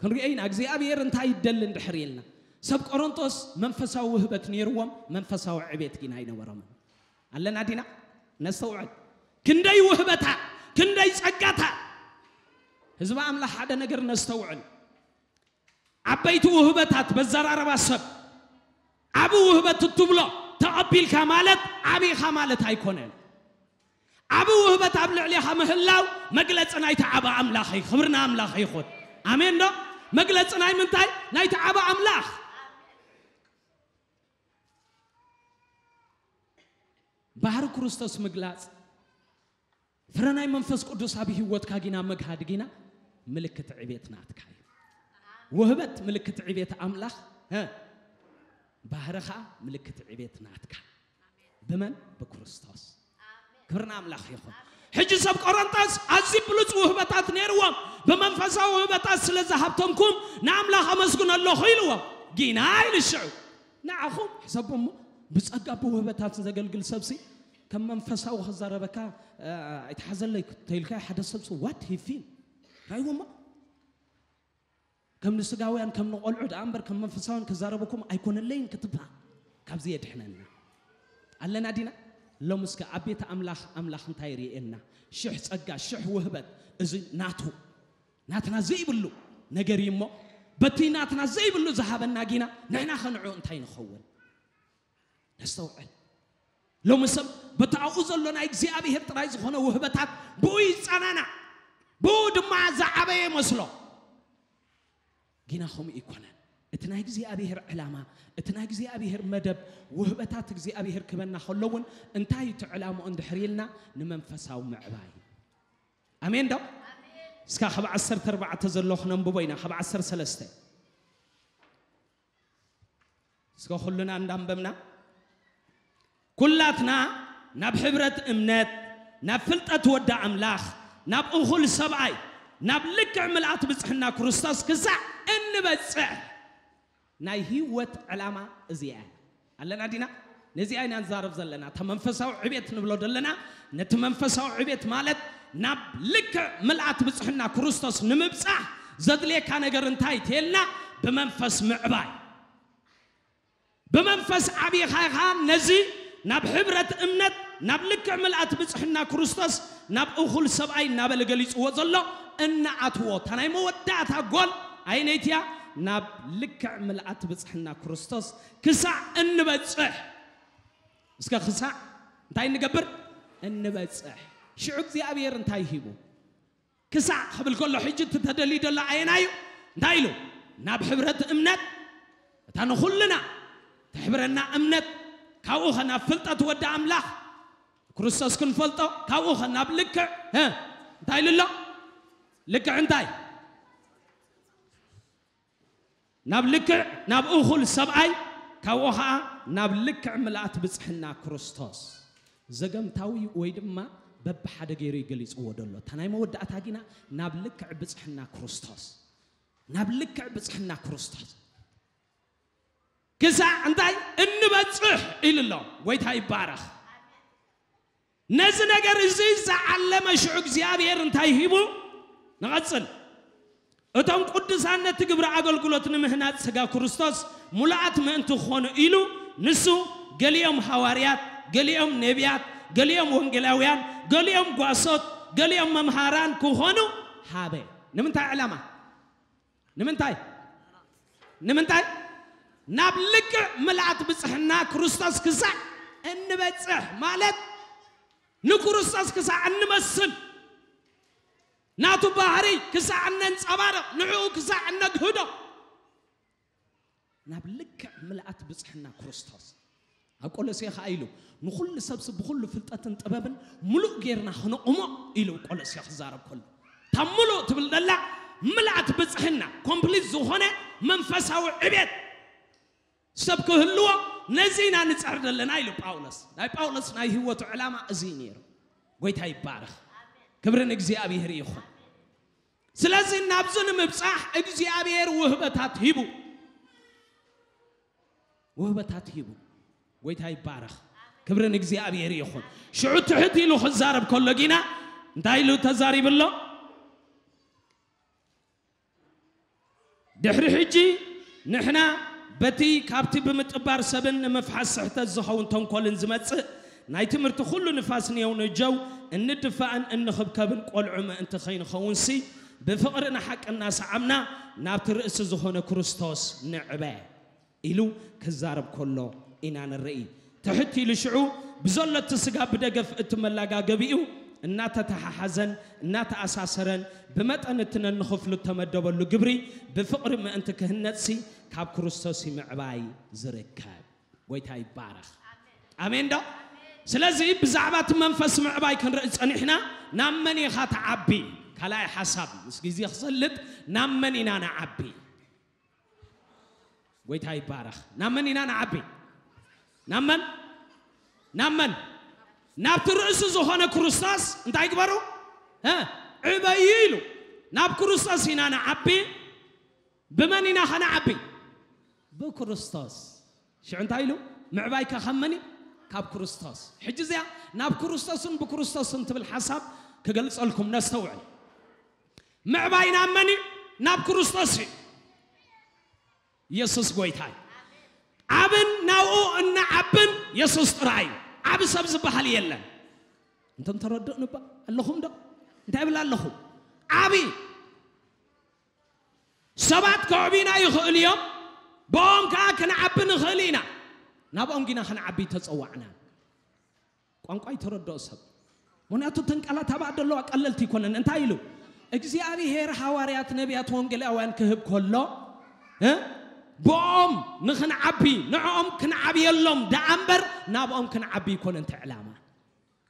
ክንሪኦ ኢና እግዚኣብሔር እንታይ ይደሊ እንድሕር ኢልና። ሰብ ቆሮንጦስ መንፈሳዊ ውህበት ነይርዎም፣ መንፈሳዊ ዕቤት ግን ኣይነበሮምን። ኣለና ዲና? ነስተውዕል። ክንደይ ውህበታት፣ ክንደይ ጸጋታት። ህዝቢ ኣምላኽ ሓደ ነገር ነስተውዕል። ዓበይቲ ውህበታት በዘራረባ ሰብ ዓቢ ውህበት እትብሎ ተቐቢልካ ማለት ዓቢኻ ማለት ኣይኮነን። ዓቢ ውህበት ኣብ ልዕሌኻ ምህላው መግለጺ ናይቲ ዓቢ ኣምላኽ እዩ። ክብሪ ንኣምላኽ ይኹን። ኣሜን ዶ? መግለጺ ናይ ምንታይ? ናይቲ ዓቢ ኣምላኽ። ባህሪ ክርስቶስ ምግላጽ፣ ፍረ ናይ መንፈስ ቅዱስ ኣብ ህይወትካ ጊና ምግሃድ ጊና ምልክት ዕቤት ናትካ እዩ። ውህበት ምልክት ዕቤት ኣምላኽ፣ እ፣ ባህሪ ኸኣ ምልክት ዕቤት ናትካ። ብመን? ብክርስቶስ። ክብሪ ንኣምላኽ ይኹን። ሕጂ ሰብ ቆሮንጦስ ኣዝዩ ብሉጽ ውህበታት ነይርዎም፣ ብመንፈሳዊ ውህበታት ስለ ዝሃብተምኩም ንኣምላኽ ኣመስግኖ ኣለኹ ኢልዎም። ጊና ኢሉ ሽዑ ንዓኹም ሕሰቡ እሞ፣ ብጸጋ ብውህበታት ዘገልግል ሰብሲ ከም መንፈሳዊ ክዛረበካ፣ እ፣ ኣይትሓዘለይ ተይልካ ሓደ ሰብሲ what he feel ራይዎ እሞ ከም ንስጋውያን ከም ንቆልዑ ደኣ እምበር ከም መንፈሳውያን ክዛረበኩም ኣይኮነለይን ክትብሃል ካብዚ የድሕነና። ኣለና ዲና? ሎም እስከ ኣብ ቤት ኣምላኽ ኣምላኽ እንታይ ርእየና? ሽሕ ጸጋ፣ ሽሕ ውህበት፣ እዚ ናቱ ናትና ዘይብሉ ነገር እዩ እሞ፣ በቲ ናትና ዘይብሉ ዝሃበና ጊና ንሕና ኸንዑ እንታይ ንኸውን? ነስተውዕል። ሎሚ ሰብ በቲ ኣብኡ ዘሎ ናይ እግዚኣብሔር ጥራይ ዝኾነ ውህበታት ብኡ ይጸናናዕ፣ ብኡ ድማ ዝዓበየ ይመስሎ። ጊና ከምኡ ይኮነን። እቲ ናይ እግዚኣብሔር ዕላማ፣ እቲ ናይ እግዚኣብሔር መደብ፣ ውህበታት እግዚኣብሔር ክበና ከሎ እውን እንታይ እቲ ዕላምኡ እንድሕር ኢልና ንመንፈሳዊ ምዕባይ። ኣሜን ዶ? እስካ ካብ ዓሰርተ ኣርባዕተ ዘሎ ክነንብቦ ኢና፣ ካብ ዓሰርተ ሰለስተ። እስከ ኩልና እንዳንበብና፣ ኩላትና ናብ ሕብረት እምነት፣ ናብ ፍልጠት ወዲ ኣምላኽ፣ ናብ እኹል ሰብኣይ፣ ናብ ልክዕ ምልኣት ብጽሕና ክርስቶስ ክሳዕ እንበጽሕ ናይ ህይወት ዕላማ እዚኣ እያ። ኣለና ዲና? ነዚኣ ኢና ንዛረብ ዘለና። እታ መንፈሳዊ ዕቤት ንብሎ ዘለና፣ ነቲ መንፈሳዊ ዕቤት ማለት ናብ ልክዕ ምልኣት ብጽሕና ክርስቶስ ንምብጻሕ ዘድልየካ ነገር እንታይ ተልና? ብመንፈስ ምዕባይ። ብመንፈስ ዓቢኻ ኢኻ ነዚ ናብ ሕብረት እምነት፣ ናብ ልክዕ ምልኣት ብጽሕና ክርስቶስ፣ ናብ እኹል ሰብኣይ እናበለ ገሊጽዎ ዘሎ እንኣትዎ። እታ ናይ መወዳእታ ጎል ኣየነይቲ እያ? ናብ ልክዕ ምልኣት ብጽሕና ክርስቶስ ክሳዕ እንበጽሕ። እስከ ክሳዕ እንታይ እንገብር? እንበጽሕ። ሽዑ እግዚኣብሔር እንታይ ሂቡ? ክሳዕ ክብል ከሎ ሕጂ እቲ ተደልዩ ዘሎ ኣየናዩ? እንታይ ኢሉ? ናብ ሕብረት እምነት፣ እታ ንኹልና ተሕብረና እምነት፣ ካብኡ ኸ ናብ ፍልጠት ወዲ ኣምላኽ ክርስቶስ ክንፈልጦ፣ ካብኡ ኸ ናብ ልክዕ፣ እ፣ እንታይ ኢሉ ኣሎ? ልክዕ እንታይ? ናብ ልክዕ፣ ናብ እኹል ሰብኣይ፣ ካብኡ ኸዓ ናብ ልክዕ ምልኣት ብጽሕና ክርስቶስ። ዘገምታዊ ወይ ድማ በብሓደ ገይሩ እዩ ገሊጽዎ ዘሎ። እታ ናይ መወዳእታ ጊና ናብ ልክዕ ብጽሕና ክርስቶስ። ናብ ልክዕ ብጽሕና ክርስቶስ። ክሳዕ እንታይ እንበጽሕ ኢሉ ኣሎ። ጎይታ ይባረኽ። ነዚ ነገር እዚ ዝዓለመ ሽዑ እግዚኣብሔር እንታይ ሂቡ? ንቐጽል። እቶም ቅዱሳን ነቲ ግብሪ ኣገልግሎት ንምህናጽ ስጋ ክርስቶስ ሙሉኣት ምእንቲ ክኾኑ ኢሉ ንሱ ገሊኦም ሃዋርያት፣ ገሊኦም ነቢያት፣ ገሊኦም ወንጌላውያን፣ ገሊኦም ጓሶት፣ ገሊኦም መምሃራን ክኾኑ ሃበ። ንምንታይ ዕላማ? ንምንታይ? ንምንታይ? ናብ ልክዕ ምልኣት ብጽሕና ክርስቶስ ክሳዕ እንበጽሕ፣ ማለት ንክርስቶስ ክሳዕ እንመስል፣ ናቱ ባህሪ ክሳዕ እነንጸባርቕ፣ ንዕኡ ክሳዕ እነግህዶ፣ ናብ ልክዕ ምልኣት ብጽሕና ክርስቶስ። ኣብ ቆሎሴ ኸኣ ኢሉ፣ "ንኹሉ ሰብሲ ብኹሉ ፍልጠትን ጥበብን ምሉእ ጌርና ኽነቑሞ" ኢሉ ቆሎሴ ክዛረብ ከሎ፣ እታ ምሉእ ትብል ዘላ ምልኣት ብጽሕና፣ ኮምፕሊት ዝኾነ መንፈሳዊ ዕቤት ሰብ ክህልዎ፣ ነዚ ኢና ንጸር ዘለና ኢሉ ጳውሎስ። ናይ ጳውሎስ ናይ ህይወቱ ዕላማ እዚ እዩ ነይሩ። ጎይታ ይባረኽ። ክብሪ ንእግዚኣብሔር ይኹን። ስለዚ ናብዚ ንምብጻሕ እግዚኣብሔር ውህበታት ሂቡ። ውህበታት ሂቡ። ጎይታ ይባረኽ። ክብሪ ንእግዚኣብሔር ይኹን። ሽዑ ትሕት ኢሉ ክዛረብ ከሎ ጊና እንታይ ኢሉ ተዛሪቡ ኣሎ? ድሕሪ ሕጂ ንሕና በቲ ካብቲ ብምጥባር ሰብን ንምፍሓስ ስሕተት ዝኸውን ተንኮልን ዝመጽእ ናይ ትምህርቲ ኩሉ ንፋስ ንየው ንጀው እንድፋእን እንኽብከብን ቆልዑ ምእንቲ ከይንኸውንሲ ብፍቕሪ ንሓቂ እናሰዓምና ናብቲ ርእሲ ዝኾነ ክርስቶስ ንዕበ ኢሉ ክዛረብ ከሎ ኢና ንርኢ። ትሕት ኢሉ ሽዑ ብዘሎ እቲ ስጋ ብደገፍ እቲ መላጋገቢኡ እናተተሓሓዘን እናተኣሳሰረን ብመጠን እቲ ነንኽፍሉ እተመደበሉ ግብሪ ብፍቕሪ ምእንቲ ክህነጽሲ ካብ ክርስቶስ ምዕባይ ዝርከብ። ጎይታ ይባረኽ። ኣሜን ዶ? ስለዚ ብዛዕባ እቲ መንፈስ ምዕባይ ክንርኢ ጸኒሕና፣ ናብ መን ኢኻ ትዓቢ? ካልኣይ ሓሳብ፣ ምስ ግዜ ክሰልጥ፣ ናብ መን ኢና ንዓቢ? ጎይታ ይባረኽ። ናብ መን ኢና ንዓቢ? ናብ መን? ናብ መን? ናብቲ ርእሲ ዝኾነ ክርስቶስ እንታይ ግበሩ? እ? ዕበዩ ኢሉ። ናብ ክርስቶስ ኢና ንዓቢ። ብመን ኢና ኸነዓቢ? ብክርስቶስ። ሽዑ እንታይ ኢሉ? ምዕባይካ ካብ መን እዩ? ካብ ክርስቶስ። ሕጂ እዚኣ ናብ ክርስቶስን ብክርስቶስን ትብል ሓሳብ ክገልጸልኩም ነስተውዕል። ምዕባይ ናብ መን እዩ? ናብ ክርስቶስ እዩ። ኢየሱስ ጎይታ እዩ። ዓብን ናብኡ እንዓብን የሱስ ጥራይ እዩ። ዓቢ ሰብ ዝበሃል የለን። እንቶም ተረድእኒ እባ ኣለኹም ዶ? እንታይ እብል ኣለኹ? ዓቢ ሰባት ከዕብዩና ይኽእሉ እዮም፣ ብኦም ከኣ ክንዓቢ ንኽእል ኢና። ናብኦም ጊና ክንዓቢ ተጸዋዕና። ቋንቋ ይተረድኦ ሰብ። ምኽንያቱ እተን ቃላት ኣብኣ ዘለዋ ቀለልቲ ኣይኮነን። እንታይ ኢሉ? እግዚኣብሔር ሃዋርያት፣ ነቢያት፣ ወንጌላውያን ክህብ ከሎ፣ እ? ብኦም ንኽንዓቢ፣ ንዕኦም ክንዓብየሎም ደኣ እምበር ናብኦም ክንዓቢ ኣይኮነን እቲ ዕላማ።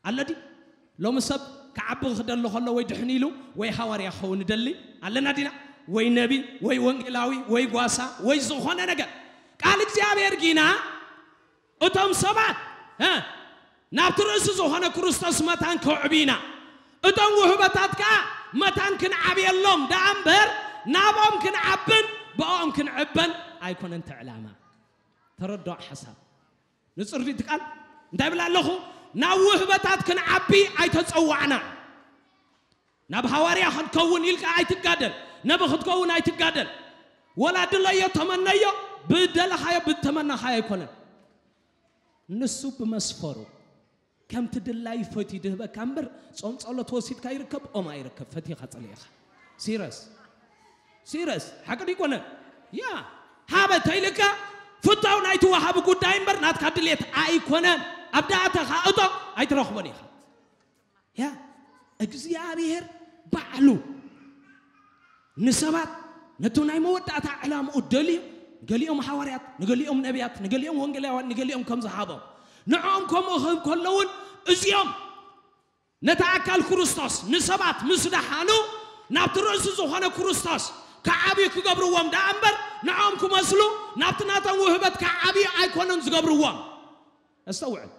ኣሎ ድዩ? ሎሚ ሰብ ክዓቢ ክደሊ ከሎ ወይ ድሕን ኢሉ ወይ ሃዋርያ ክኸውን ይደሊ ኣለና ዲና? ወይ ነቢ ወይ ወንጌላዊ ወይ ጓሳ ወይ ዝኾነ ነገር። ቃል እግዚኣብሔር ጊና እቶም ሰባት፣ እ፣ ናብቲ ርእሲ ዝኾነ ክርስቶስ መታን ከዕብዩና፣ እቶም ውህበታት ከኣ መታን ክንዓብየሎም ደኣ እምበር ናብኦም ክንዓብን ብኦም ክንዕበን ኣይኮነን እቲ ዕላማ። ተረድኦ ሓሳብ። ንጽር ድዩ እቲ ቃል? እንታይ እብል ኣለኹ? ናብ ውህበታት ክንዓቢ ኣይተጸዋዕና። ናብ ሃዋርያ ክትከውን ኢልካ ኣይትጋደል፣ ነቢ ክትከውን ኣይትጋደል። ወላ ድለዮ፣ ተመነዮ፣ ብደለኻዮ፣ ብተመናኻዮ ኣይኮነን። ንሱ ብመስፈሩ፣ ከምቲ ድላዩ ፈትዩ ድህበካ እምበር፣ ጾም ጸሎት ወሲድካ ይርከብ፣ ኦም ኣይርከብ፣ ፈቲኻ ጸሊእኻ። ሲረስ። ሲረስ። ሓቂ ድዩ ኣይኮነን? ያ። ሃበ ተይልካ፣ ፍታው ናይቲ ወሃቢ ጉዳይ እምበር፣ ናትካ ድሌት ኣይኮነን። ኣብ ደኣተኻ እቶ፣ ኣይትረኽቦን ኢኻ። ያ፣ እግዚኣብሔር ባዕሉ ንሰባት ነቲ ናይ መወዳእታ ዕላምኡ ደልዩ፣ ንገሊኦም ሃዋርያት፣ ንገሊኦም ነቢያት፣ ንገሊኦም ወንጌላውያን፣ ንገሊኦም ከም ዝሃቦም፣ ንዕኦም ከምኡ ክህብ ከሎ እውን፣ እዚኦም ነቲ ኣካል ክርስቶስ ንሰባት ምስ ደሓኑ፣ ናብቲ ርእሲ ዝኾነ ክርስቶስ ክዓብዩ ክገብርዎም ደኣ እምበር፣ ንዕኦም ክመስሉ፣ ናብቲ ናቶም ውህበት ክዓብዩ ኣይኮኑን ዝገብርዎም። ኣስተውዕል።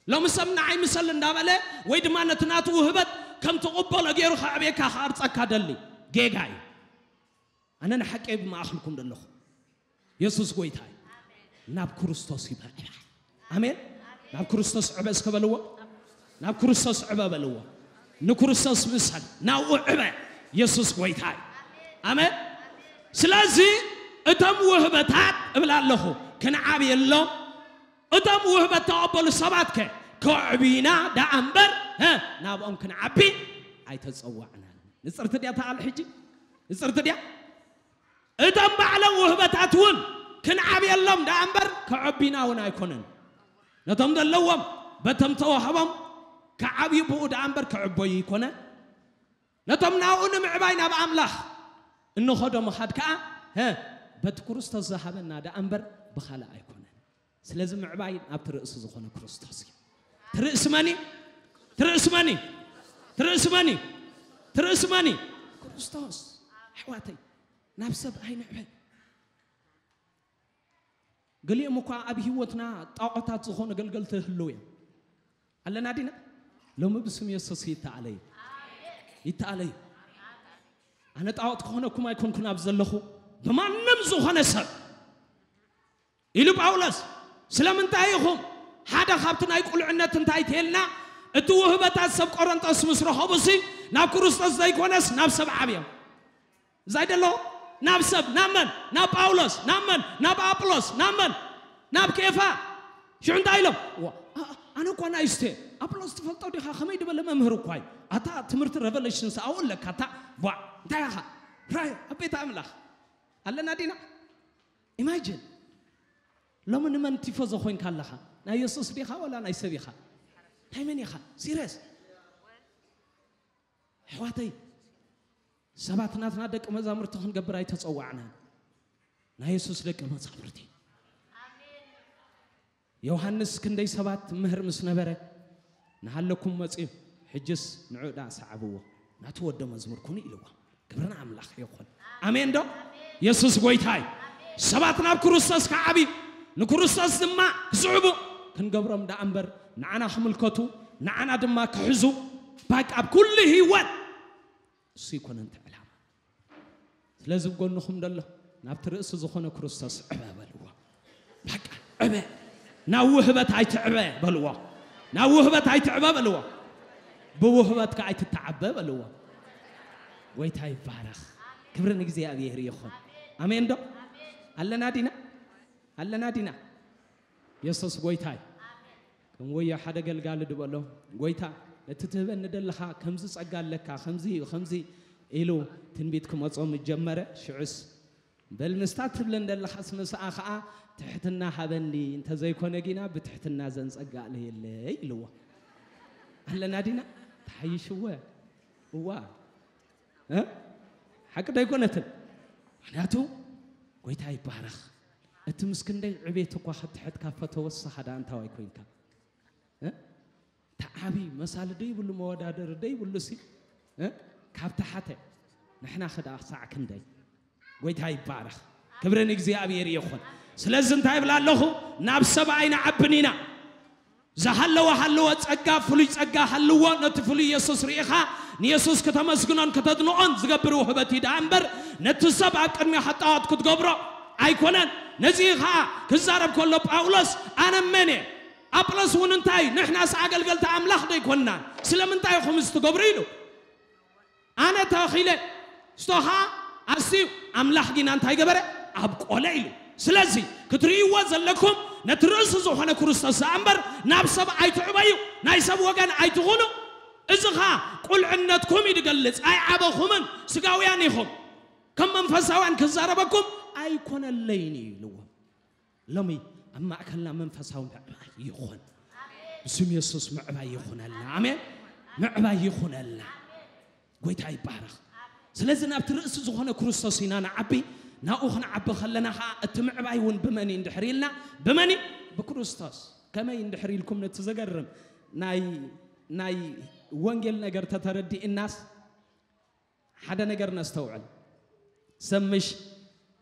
ሎሚ ሰብ ንዓይ ምሰል እንዳበለ ወይ ድማ ነቲ ናቱ ውህበት ከም ትቕበሎ ገይሩ ከዕብየካ ክቐርጸካ ደሊ ጌጋ እዩ። ኣነ ንሓቂ እየ ብማእኽልኩም ዘለኹ። የሱስ ጎይታ እዩ። ናብ ክርስቶስ ይበል። ኣሜን። ናብ ክርስቶስ ዕበ እስከ በልዎ። ናብ ክርስቶስ ዕበ በልዎ። ንክርስቶስ ምሰል። ናብኡ ዕበ። የሱስ ጎይታ እዩ። ኣሜን። ስለዚ እቶም ውህበታት እብል ኣለኹ ክንዓብየሎም እቶም ውህበት ተቐበሉ ሰባት ከ ከዕብዩና ደኣ እምበር፣ እ፣ ናብኦም ክንዓቢ ኣይተጸዋዕናን። ንጽርቲ ድያ እታ ቃል ሕጂ? ንጽርቲ ድያ? እቶም ባዕሎም ውህበታት እውን ክንዓብየሎም ደኣ እምበር ከዕብዩና እውን ኣይኮነን። ነቶም ዘለዎም በቶም ተዋህቦም ክዓብዩ ብኡ ደኣ እምበር ክዕበዩ ይኮነ። ነቶም ናብኡ ንምዕባይ ናብ ኣምላኽ እንኸዶ ምኻድ ከኣ፣ እ፣ በቲ ክርስቶስ ዝሃበና ደኣ እምበር ብኻልእ ኣይኮነን። ስለዚ ምዕባይ ናብቲ ርእሲ ዝኾነ ክርስቶስ እዩ። ትርእሲ መን እዩ? ትርእሲ መን እዩ? ትርእሲ መን እዩ? ትርእሲ መን እዩ? ክርስቶስ። ኣሕዋተይ፣ ናብ ሰብ ኣይንዕበ። ገሊኦም እኳ ኣብ ህይወትና ጣዖታት ዝኾኑ ኣገልገልቲ ይህልው እዮም። ኣለና ዲና? ሎሚ ብስም የሱስ ይተኣለዩ። ይተኣለዩ። ኣነ ጣዖት ክኾነኩም ኣይኮንኩን ኣብ ዘለኹ፣ ብማንም ዝኾነ ሰብ ኢሉ ጳውሎስ። ስለምንታይ ኢኹም ሓደ ካብቲ ናይ ቁልዕነት እንታይ ተልና፣ እቲ ውህበታት ሰብ ቆረንጦስ ምስ ረኸቡሲ ናብ ክርስቶስ ዘይኮነስ ናብ ሰብ ዓብዮም። እዛ ይደሎ ናብ ሰብ፣ ናብ መን? ናብ ጳውሎስ። ናብ መን? ናብ ኣጵሎስ። ናብ መን? ናብ ኬፋ። ሽዑ እንታይ ኢሎም? ዋ፣ ኣ-፣ ኣነ እኳ ናይስተ፣ ኣጵሎስ ትፈልጦ ዲኻ? ከመይ ዝበለ መምህር እኳ እዩ። ኣታ ትምህርቲ ሬቨሌሽን ሰኣው ኣለካ፣ ኣታ ቧዕ፣ እንታይ ኢኻ? ራይ ኣብ ቤት ኣምላኽ ኣለና ዲና? ኢማጂን። ሎሚ ንመን ቲፎዞ ኮይንካ ኣለኻ? ናይ የሱስ ዲኻ ወላ ናይ ሰብ ኢኻ? ናይ መን ኢኻ? ሲርየስ። ኣሕዋተይ፣ ሰባት ናትና ደቂ መዛሙርቲ ክንገብር ኣይተጸዋዕናን። ናይ የሱስ ደቂ መዛሙርቲ። ዮሃንስ ክንደይ ሰባት ምህር ምስ ነበረ፣ ንሃለኩም መጺኡ፣ ሕጅስ ንዑ ደኣ ሰዓብዎ፣ ናቱ ወደ መዝሙር ኩኑ ኢልዎ። ክብሪ ንኣምላኽ ይኹን። ኣሜን ዶ? የሱስ ጎይታይ። ሰባት ናብ ክርስቶስ ክዓብዩ፣ ንክርስቶስ ድማ ክስዕቡ ክንገብሮም ደኣ እምበር፣ ንዓና ክምልከቱ፣ ንዓና ድማ ክሕዙ፣ ባቃ ኣብ ኩሉ ህይወት እሱ ይኮነን እቲ ዕላማ። ስለዚ ብጎንኹም ደሎ ናብቲ ርእሲ ዝኾነ ክርስቶስ ዕበ በልዎ። በቃ ዕበ። ናብ ውህበት ኣይትዕበ በልዎ። ናብ ውህበት ኣይትዕበ በልዎ። ብውህበትካ ኣይትተዓበ በልዎ። ጎይታ ይባረኽ። ክብሪ ንእግዚኣብሔር ይኹን። ኣሜን ዶ? ኣለና ዲና? ኣለና ዲና? የሱስ ጎይታይ። ከም ወዮ ሓደ ገልጋሊ ድበሎ፣ ጎይታ፣ ነቲ ትህበኒ ደለኻ ከምዚ ጸጋ ኣለካ፣ ከምዚ እዩ፣ ከምዚ ኢሉ ትንቢት ክመጾ ምስ ጀመረ፣ ሽዑስ፣ በል ምስታ ትብለን ደለኻስ ምስኣ ኸኣ ትሕትና ሃበኒ፣ እንተዘይኮነ ጊና ብትሕትና ዘንጸጋ ኣለየለይ ኢልዎ። ኣለና ዲና? ተሓይሽወ። እዋ። እ? ሓቂ ዶ ኣይኮነትን? ምኽንያቱ፣ ጎይታ ይባረኽ። እቲ ምስ ክንደይ ዕቤት እኳ ክትሕት ካብ ፈተወ፣ ንስኻ ደኣ እንታዋይ ኮይንካ? እ? ተዓቢ መሳሊ ደይብሉ፣ መወዳደሪ ደይብሉ ሲ፣ እ? ካብ ተሓተ ንሕና ኸ ደኣ ክሳዕ ክንደይ? ጎይታ ይባረኽ። ክብሪ ንእግዚኣብሔር ይኹን። ስለዚ እንታይ ይብል ኣለኹ? ናብ ሰብ ኣይንዓብን ኢና። ዝሃለወ ሃለወ ጸጋ፣ ፍሉይ ጸጋ ሃልዎ፣ ነቲ ፍሉይ የሱስ ርኢኻ ንየሱስ ከተመስግኖን ከተድንቖን ዝገብር ውህበት እዩ ደኣ እምበር፣ ነቲ ሰብ ኣብ ቅድሚኻ ጣዖት ክትገብሮ ኣይኮነን። ነዚ ኸኣ ክዛረብ ከሎ ጳውሎስ፣ ኣነ መን እየ? ኣጵሎስ እውን እንታይ? ንሕናስ ኣገልገልቲ ኣምላኽ ዶ ኣይኮንናን? ስለምንታይ ኢኹም እዚ ትገብሩ? ኢሉ። ኣነ ተኺለ፣ እስቶ ኸኣ ኣስትዩ፣ ኣምላኽ ጊና እንታይ ገበረ? ኣብቆለ ኢሉ። ስለዚ ክትርእይዎ ዘለኩም ነቲ ርእሲ ዝኾነ ክርስቶስ ደኣ እምበር ናብ ሰብ ኣይትዕበዩ፣ ናይ ሰብ ወገን ኣይትኹኑ። እዚ ኸኣ ቁልዕነትኩም እዩ ዝገልጽ። ኣይዓበኹምን፣ ስጋውያን ኢኹም። ከም መንፈሳውያን ክዛረበኩም ኣይኮነለይን እዩ ኢልዎም። ሎሚ ኣብ ማእከልና መንፈሳዊ ምዕባይ ይኹን። ብስም የሱስ ምዕባይ ይኹነልና። ኣሜን። ምዕባይ ይኹነልና። ጎይታ ይባረኽ። ስለዚ ናብቲ ርእሲ ዝኾነ ክርስቶስ ኢና ንዓቢ። ናብኡ ክንዓቢ ከለና ኸኣ እቲ ምዕባይ እውን ብመን እዩ እንድሕር ኢልና፣ ብመን እዩ? ብክርስቶስ። ከመይ እንድሕር ኢልኩም ነቲ ዘገርም ናይ፣ ናይ ወንጌል ነገር ተተረዲእናስ ሓደ ነገር ነስተውዕል። ሰብ ምሽ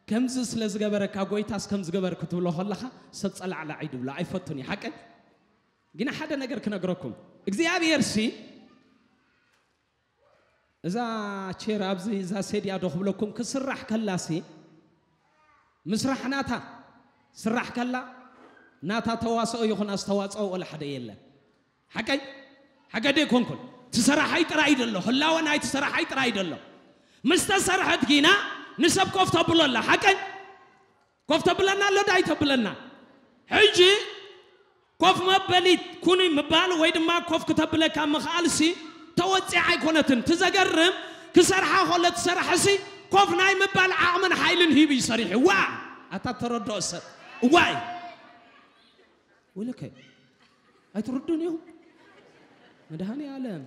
ከምዚ ስለ ዝገበረካ ጎይታስ ከም ዝገበር ክትብሎ ከለኻ ሰብ ጸላዕላዕ እዩ ድብሎ ኣይፈቱን እዩ። ሓቀይ? ግን ሓደ ነገር ክነግረኩም። እግዚኣብሔር ሲ እዛ ቼር ኣብዚ እዛ ሴድያ ዶ ክብለኩም ክስራሕ ከላሲ ምስራሕ ናታ ስራሕ ከላ ናታ ተዋስኦ ይኹን ኣስተዋጽኦ ወላ ሓደ የለን። ሓቀይ? ሓቀይ ዶ ኣይኮንኩን? ትሰራሓይ ጥራይ ደሎ፣ ህላወ ናይ ትሰራሓይ ጥራይ ደሎ። ምስ ተሰርሐት ጊና ንሰብ ኮፍ ተብሎ ኣላ። ሓቀይ? ኮፍ ተብለና ኣሎ ዶ ኣይተብለና? ሕጂ ኮፍ መበሊት ኩኒ ምባል ወይ ድማ ኮፍ ክተብለካ ምኽኣልሲ ተወፂዓ ኣይኮነትን። ትዘገርም ክሰርሓ ከሎ ትሰርሕሲ ኮፍ ናይ ምባል ዓቕምን ሓይልን ሂቡ እዩ ሰሪሑ። ዋ ኣታ ተረድኦ ሰብ እዋይ ወለከ ኣይትርዱን እዩ መድሃኒ ኣለም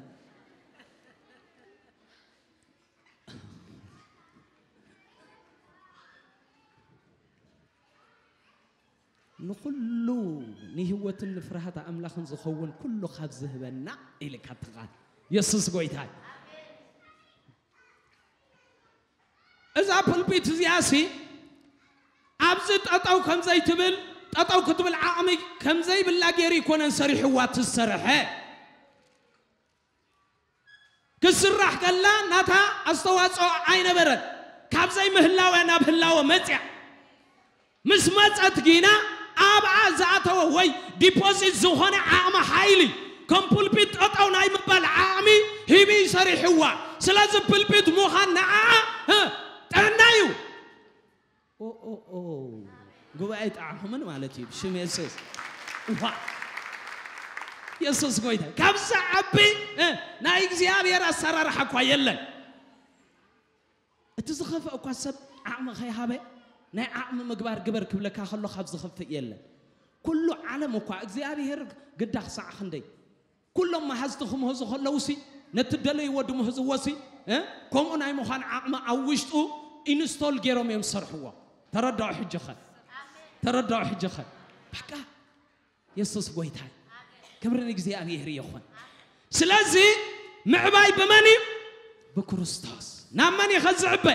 ንኹሉ ንህይወትን ንፍርሃት ኣምላኽን ዝኸውን ኩሉ ካብ ዝህበና ኢልካ ትቓል የሱስ ጎይታ እዛ ፕልፒት እዚኣ ሲ ኣብዚ ጠጠው ከም ዘይትብል ጠጠው ክትብል ዓቕሚ ከም ዘይብላ ገይሩ ይኮነን ሰሪሕዋ ትሰርሐ ክስራሕ ከላ ናታ ኣስተዋፅኦ ኣይነበረን ካብ ዘይምህላወ ናብ ህላወ መፅያ ምስ መፀት ጊና ኣብኣ ዝኣተወ ወይ ዲፖዚት ዝኾነ ዓቕሚ ሓይሊ ከም ፑልፒት ጠጠው ናይ ምባል ዓቕሚ ሂቢ ሰሪሕዋ ስለዚ ፕልፒት ምዃን ንዓኣ ጥዕና እዩ ጉባኤ ጣዕኹምን ማለት እዩ ብሽም የሱስ ዋ የሱስ ጎይታ ካብዛ ዓቢ ናይ እግዚኣብሔር ኣሰራርሓ እኳ የለን እቲ ዝኸፍእ እኳ ሰብ ዓቕሚ ከይሃበ ናይ ዓቕሚ ምግባር ግበር ክብለካ ከሎ ካብ ዝኸፍእ የለን ኩሉ ዓለም እኳ እግዚኣብሔር ግዳ ክሳዕ ክንደይ ኩሎም መሃዝቲ ክምህዙ ከለውሲ ነቲ ደለይዎ ድምህዝዎሲ ከምኡ ናይ ምዃን ዓቕሚ ኣብ ውሽጡ ኢንስቶል ገይሮም እዮም ዝሰርሕዎ ተረዳኦ ሕጂ ኸ ተረዳኦ ሕጂ ኸ በቃ የሱስ ጎይታይ ክብሪ ንእግዚኣብሔር ይኹን ስለዚ ምዕባይ ብመን እዩ ብክርስቶስ ናብ መን እዩ ከዝዕበ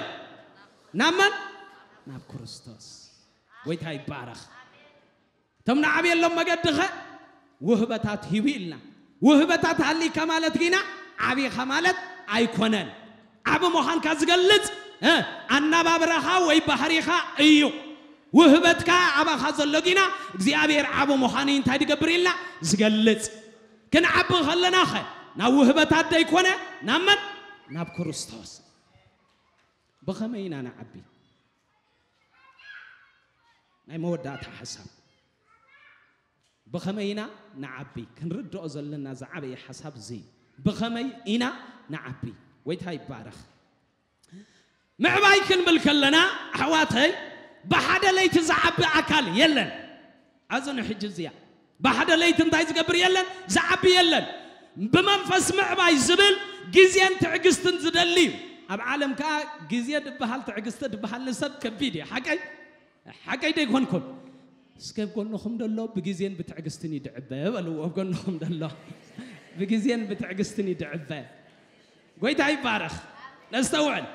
ናብ መን ናብ ክርስቶስ ጎይታ ይባረኽ እቶም ንዓብየሎም መገድኸ ውህበታት ሂቡ ኢልና። ውህበታት ሃሊካ ማለት ግና ዓቢኻ ማለት ኣይኮነን። ዓቢ ምዃንካ ዝገልጽ ኣናባብራኻ ወይ ባህሪኻ እዩ። ውህበትካ ኣባኻ ዘሎ ግና እግዚኣብሔር ዓቢ ምዃኑ እንታይ ዝገብር ኢልና ዝገልጽ። ክንዓቢ ከለናኸ ናብ ውህበታት ደይኮነ ናብ መን? ናብ ክርስቶስ። ብኸመይ ኢና ንዓቢ? ናይ መወዳእታ ሓሳብ ብኸመይ ኢና ንዓቢ? ክንርድኦ ዘለና ዝዓበየ ሓሳብ እዚ እዩ። ብኸመይ ኢና ንዓቢ? ጎይታ ይባረኽ። ምዕባይ ክንብል ከለና ኣሕዋተይ ብሓደ ለይቲ ዝዓቢ ኣካል የለን። ኣዝኑ ሕጂ እዚኣ ብሓደ ለይቲ እንታይ ዝገብር የለን? ዝዓቢ የለን። ብመንፈስ ምዕባይ ዝብል ግዜን ትዕግስትን ዝደሊ እዩ። ኣብ ዓለም ከኣ ግዜ ድበሃል ትዕግስቲ ድበሃል ንሰብ ከቢድ እዩ። ሓቀይ ሓቀይ ዶ ይኮንኩም? እስከ ጎንኹም ደሎ ብግዜን ብትዕግስትን ይድዕበ በልዎ። ጎንኹም ደሎ ብግዜን ብትዕግስትን ይድዕበ። ጎይታ ይባረኽ። ነስተውዕል።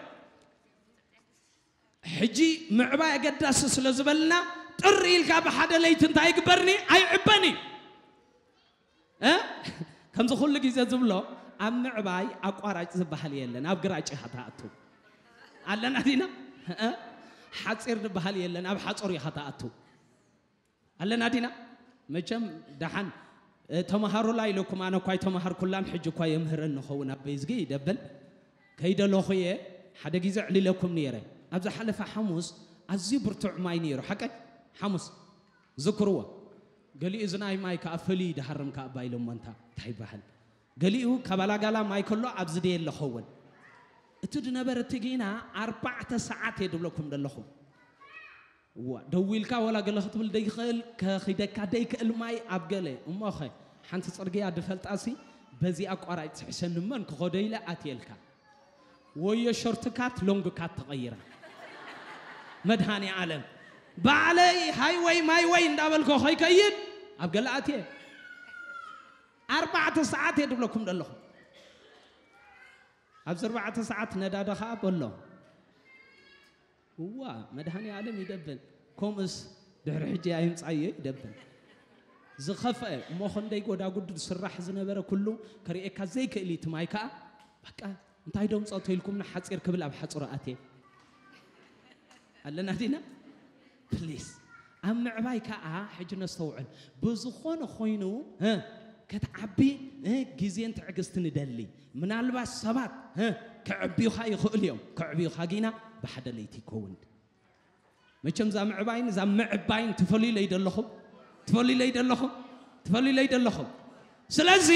ሕጂ ምዕባይ ኣገዳሲ ስለ ዝበልና ጥሪ ኢልካ ብሓደ ለይቲ እንታይ ይግበርኒ? ኣይዕበኒ። እ? ከምዚ ኩሉ ግዜ ዝብሎ ኣብ ምዕባይ ኣቋራጭ ዝበሃል የለን። ኣብ ግራጭ ኢኻ ትኣቱ። ኣለና ዲና? እ? ሓፂር ዝበሃል የለን። ኣብ ሓፁር ኢኻ ትኣቱ። ኣለና ዲና? መቸም ደሓን ተምሃሩላ ኢለኩም ኣነ እኳ ኣይተምሃርኩላን ሕጂ እኳ የምህረኒ ኸውን ኣበይ ዝጊ ይደብል ከይደለኹ እየ ሓደ ግዜ ዕሊለኩም ነይረ ኣብ ዝሓለፈ ሓሙስ ኣዝዩ ብርቱዕ ማይ ነይሩ ሓቀይ ሓሙስ ዝክርዎ ገሊኡ እዚ ናይ ማይ ከዓ ፍልይ ድሃርም ከዓ ባይሎሞ እንታ እንታይ ይበሃል ገሊኡ ካባላጋላ ማይ ከሎ ኣብዚ ደየ ኣለኸውን እቲ ድነበር እቲ ጊና ኣርባዕተ ሰዓት እየ ድብለኩም ደለኹ እዋ ደዊልካ ወላ ገለ ክትብል ደይክእል ከኺደካ ደይክእል ማይ ኣብ ገለ እሞኸ ሓንቲ ፅርግያ ድፈልጣሲ በዚ ኣቋራጭ ትሕሸኒ መን ክኸዶ ኢለ ኣትየልካ ወዮ ሾርትካት ሎንግካት ተቐይራ መድሃኒ ዓለም ባዕለይ ሃይወይ ማይወይ እንዳበልኮ ኸይከይድ ኣብ ገለ ኣትየ ኣርባዕተ ሰዓት እየ ድብለኩም ደለኹ ኣብዚ ኣርባዕተ ሰዓት ነዳዲ ኸዓ በሎ እዋ መድሃኒ ዓለም ይደብል ከምኡስ ድሕሪ ሕጂ ኣይምፃዮ ይደብል ዝኸፍአ እሞ ክንደይ ጎዳጉድ ዝስራሕ ዝነበረ ኩሉ ከርእየካ ዘይክእል እዩ ትማይ ከዓ በቃ እንታይ ዶም ጸቶ ኢልኩም ንሓጺር ክብል ኣብ ሓጹር ኣትየ ኣለና ዲና ፕሊስ ኣብ ምዕባይ ከዓ ሕጂ ነስተውዕል ብዝኾነ ኮይኑ እ፣ ከተዓቢ እ፣ ግዜን ትዕግስትን ይደሊ ምናልባት ሰባት እ፣ ከዕብዩኻ ይኽእሉ እዮም ከዕብዩኻ ጊና ብሓደ ለይቲ ይከውን መቸም እዛ ምዕባይን እዛ ምዕባይን ትፈልዩለይ ደለኹም ትፈልዩለይ ደለኹም ትፈልዩለይ ደለኹም? ስለዚ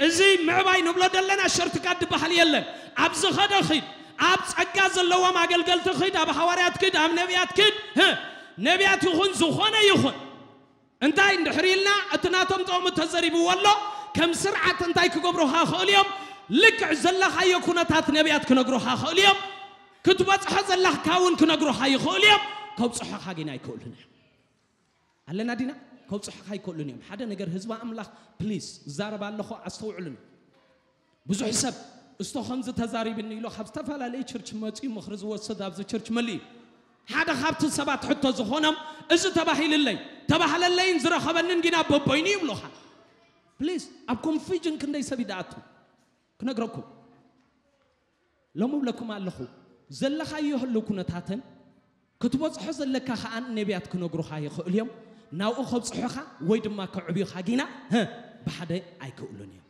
እዚ ምዕባይ ንብሎ ደለና ሸርትካት ዝበሃል የለን። ኣብ ዝኸደ ኺድ፣ ኣብ ጸጋ ዘለዎም ኣገልገልቲ ኺድ፣ ኣብ ሃዋርያት ኪድ፣ ኣብ ነቢያት ኪድ፣ ህ፣ ነቢያት ይኹን ዝኾነ ይኹን እንታይ እንድሕር ኢልና፣ እቲ ናቶም ጥቕሚ ተዘሪብዎ ኣሎ። ከም ስርዓት እንታይ ክገብሩኻ ይኽእሉ እዮም? ልክዕ ዘለኻዮ ኩነታት ነቢያት ክነግሩኻ ይኽእሉ እዮም። ክትበጽሖ ዘለካ እውን ክነግሩኻ ይኽእሉ እዮም። ከብጽሖኻ ግን ኣይክእሉን እዮም። ኣለና ዲና? ከብጽሖኻ ኣይክእሉን እዮም። ሓደ ነገር ህዝቢ ኣምላኽ ፕሊስ፣ እዛረብ ኣለኹ፣ ኣስተውዕሉኒ። ብዙሕ ሰብ እስቶ ከምዚ ተዛሪብኒ ኢሉ ካብ ዝተፈላለየ ቸርች መጺኡ ምኽሪ ዝወስድ ኣብዚ ቸርች መሊኡ። ሓደ ካብቲ ሰባት ሕቶ ዝኾኖም፣ እዚ ተባሂልለይ፣ ተባህለለይን ዝረኸበንን ጊና በቦይኑ ይብሉኻ። ፕሊዝ፣ ኣብ ኮንፊዥን ክንደይ ሰብ ይደኣቱ ክነግረኩም። ሎሚ እብለኩም ኣለኹ፣ ዘለኻዮ ህልው ኩነታትን ክትበጽሖ ዘለካ ኸኣ ነቢያት ክነግሩኻ ይኽእሉ እዮም። ናብኡ ከብጽሑኻ ወይ ድማ ከዕብዩኻ ጊና፣ ህ፣ ብሓደ ኣይክእሉን እዮም።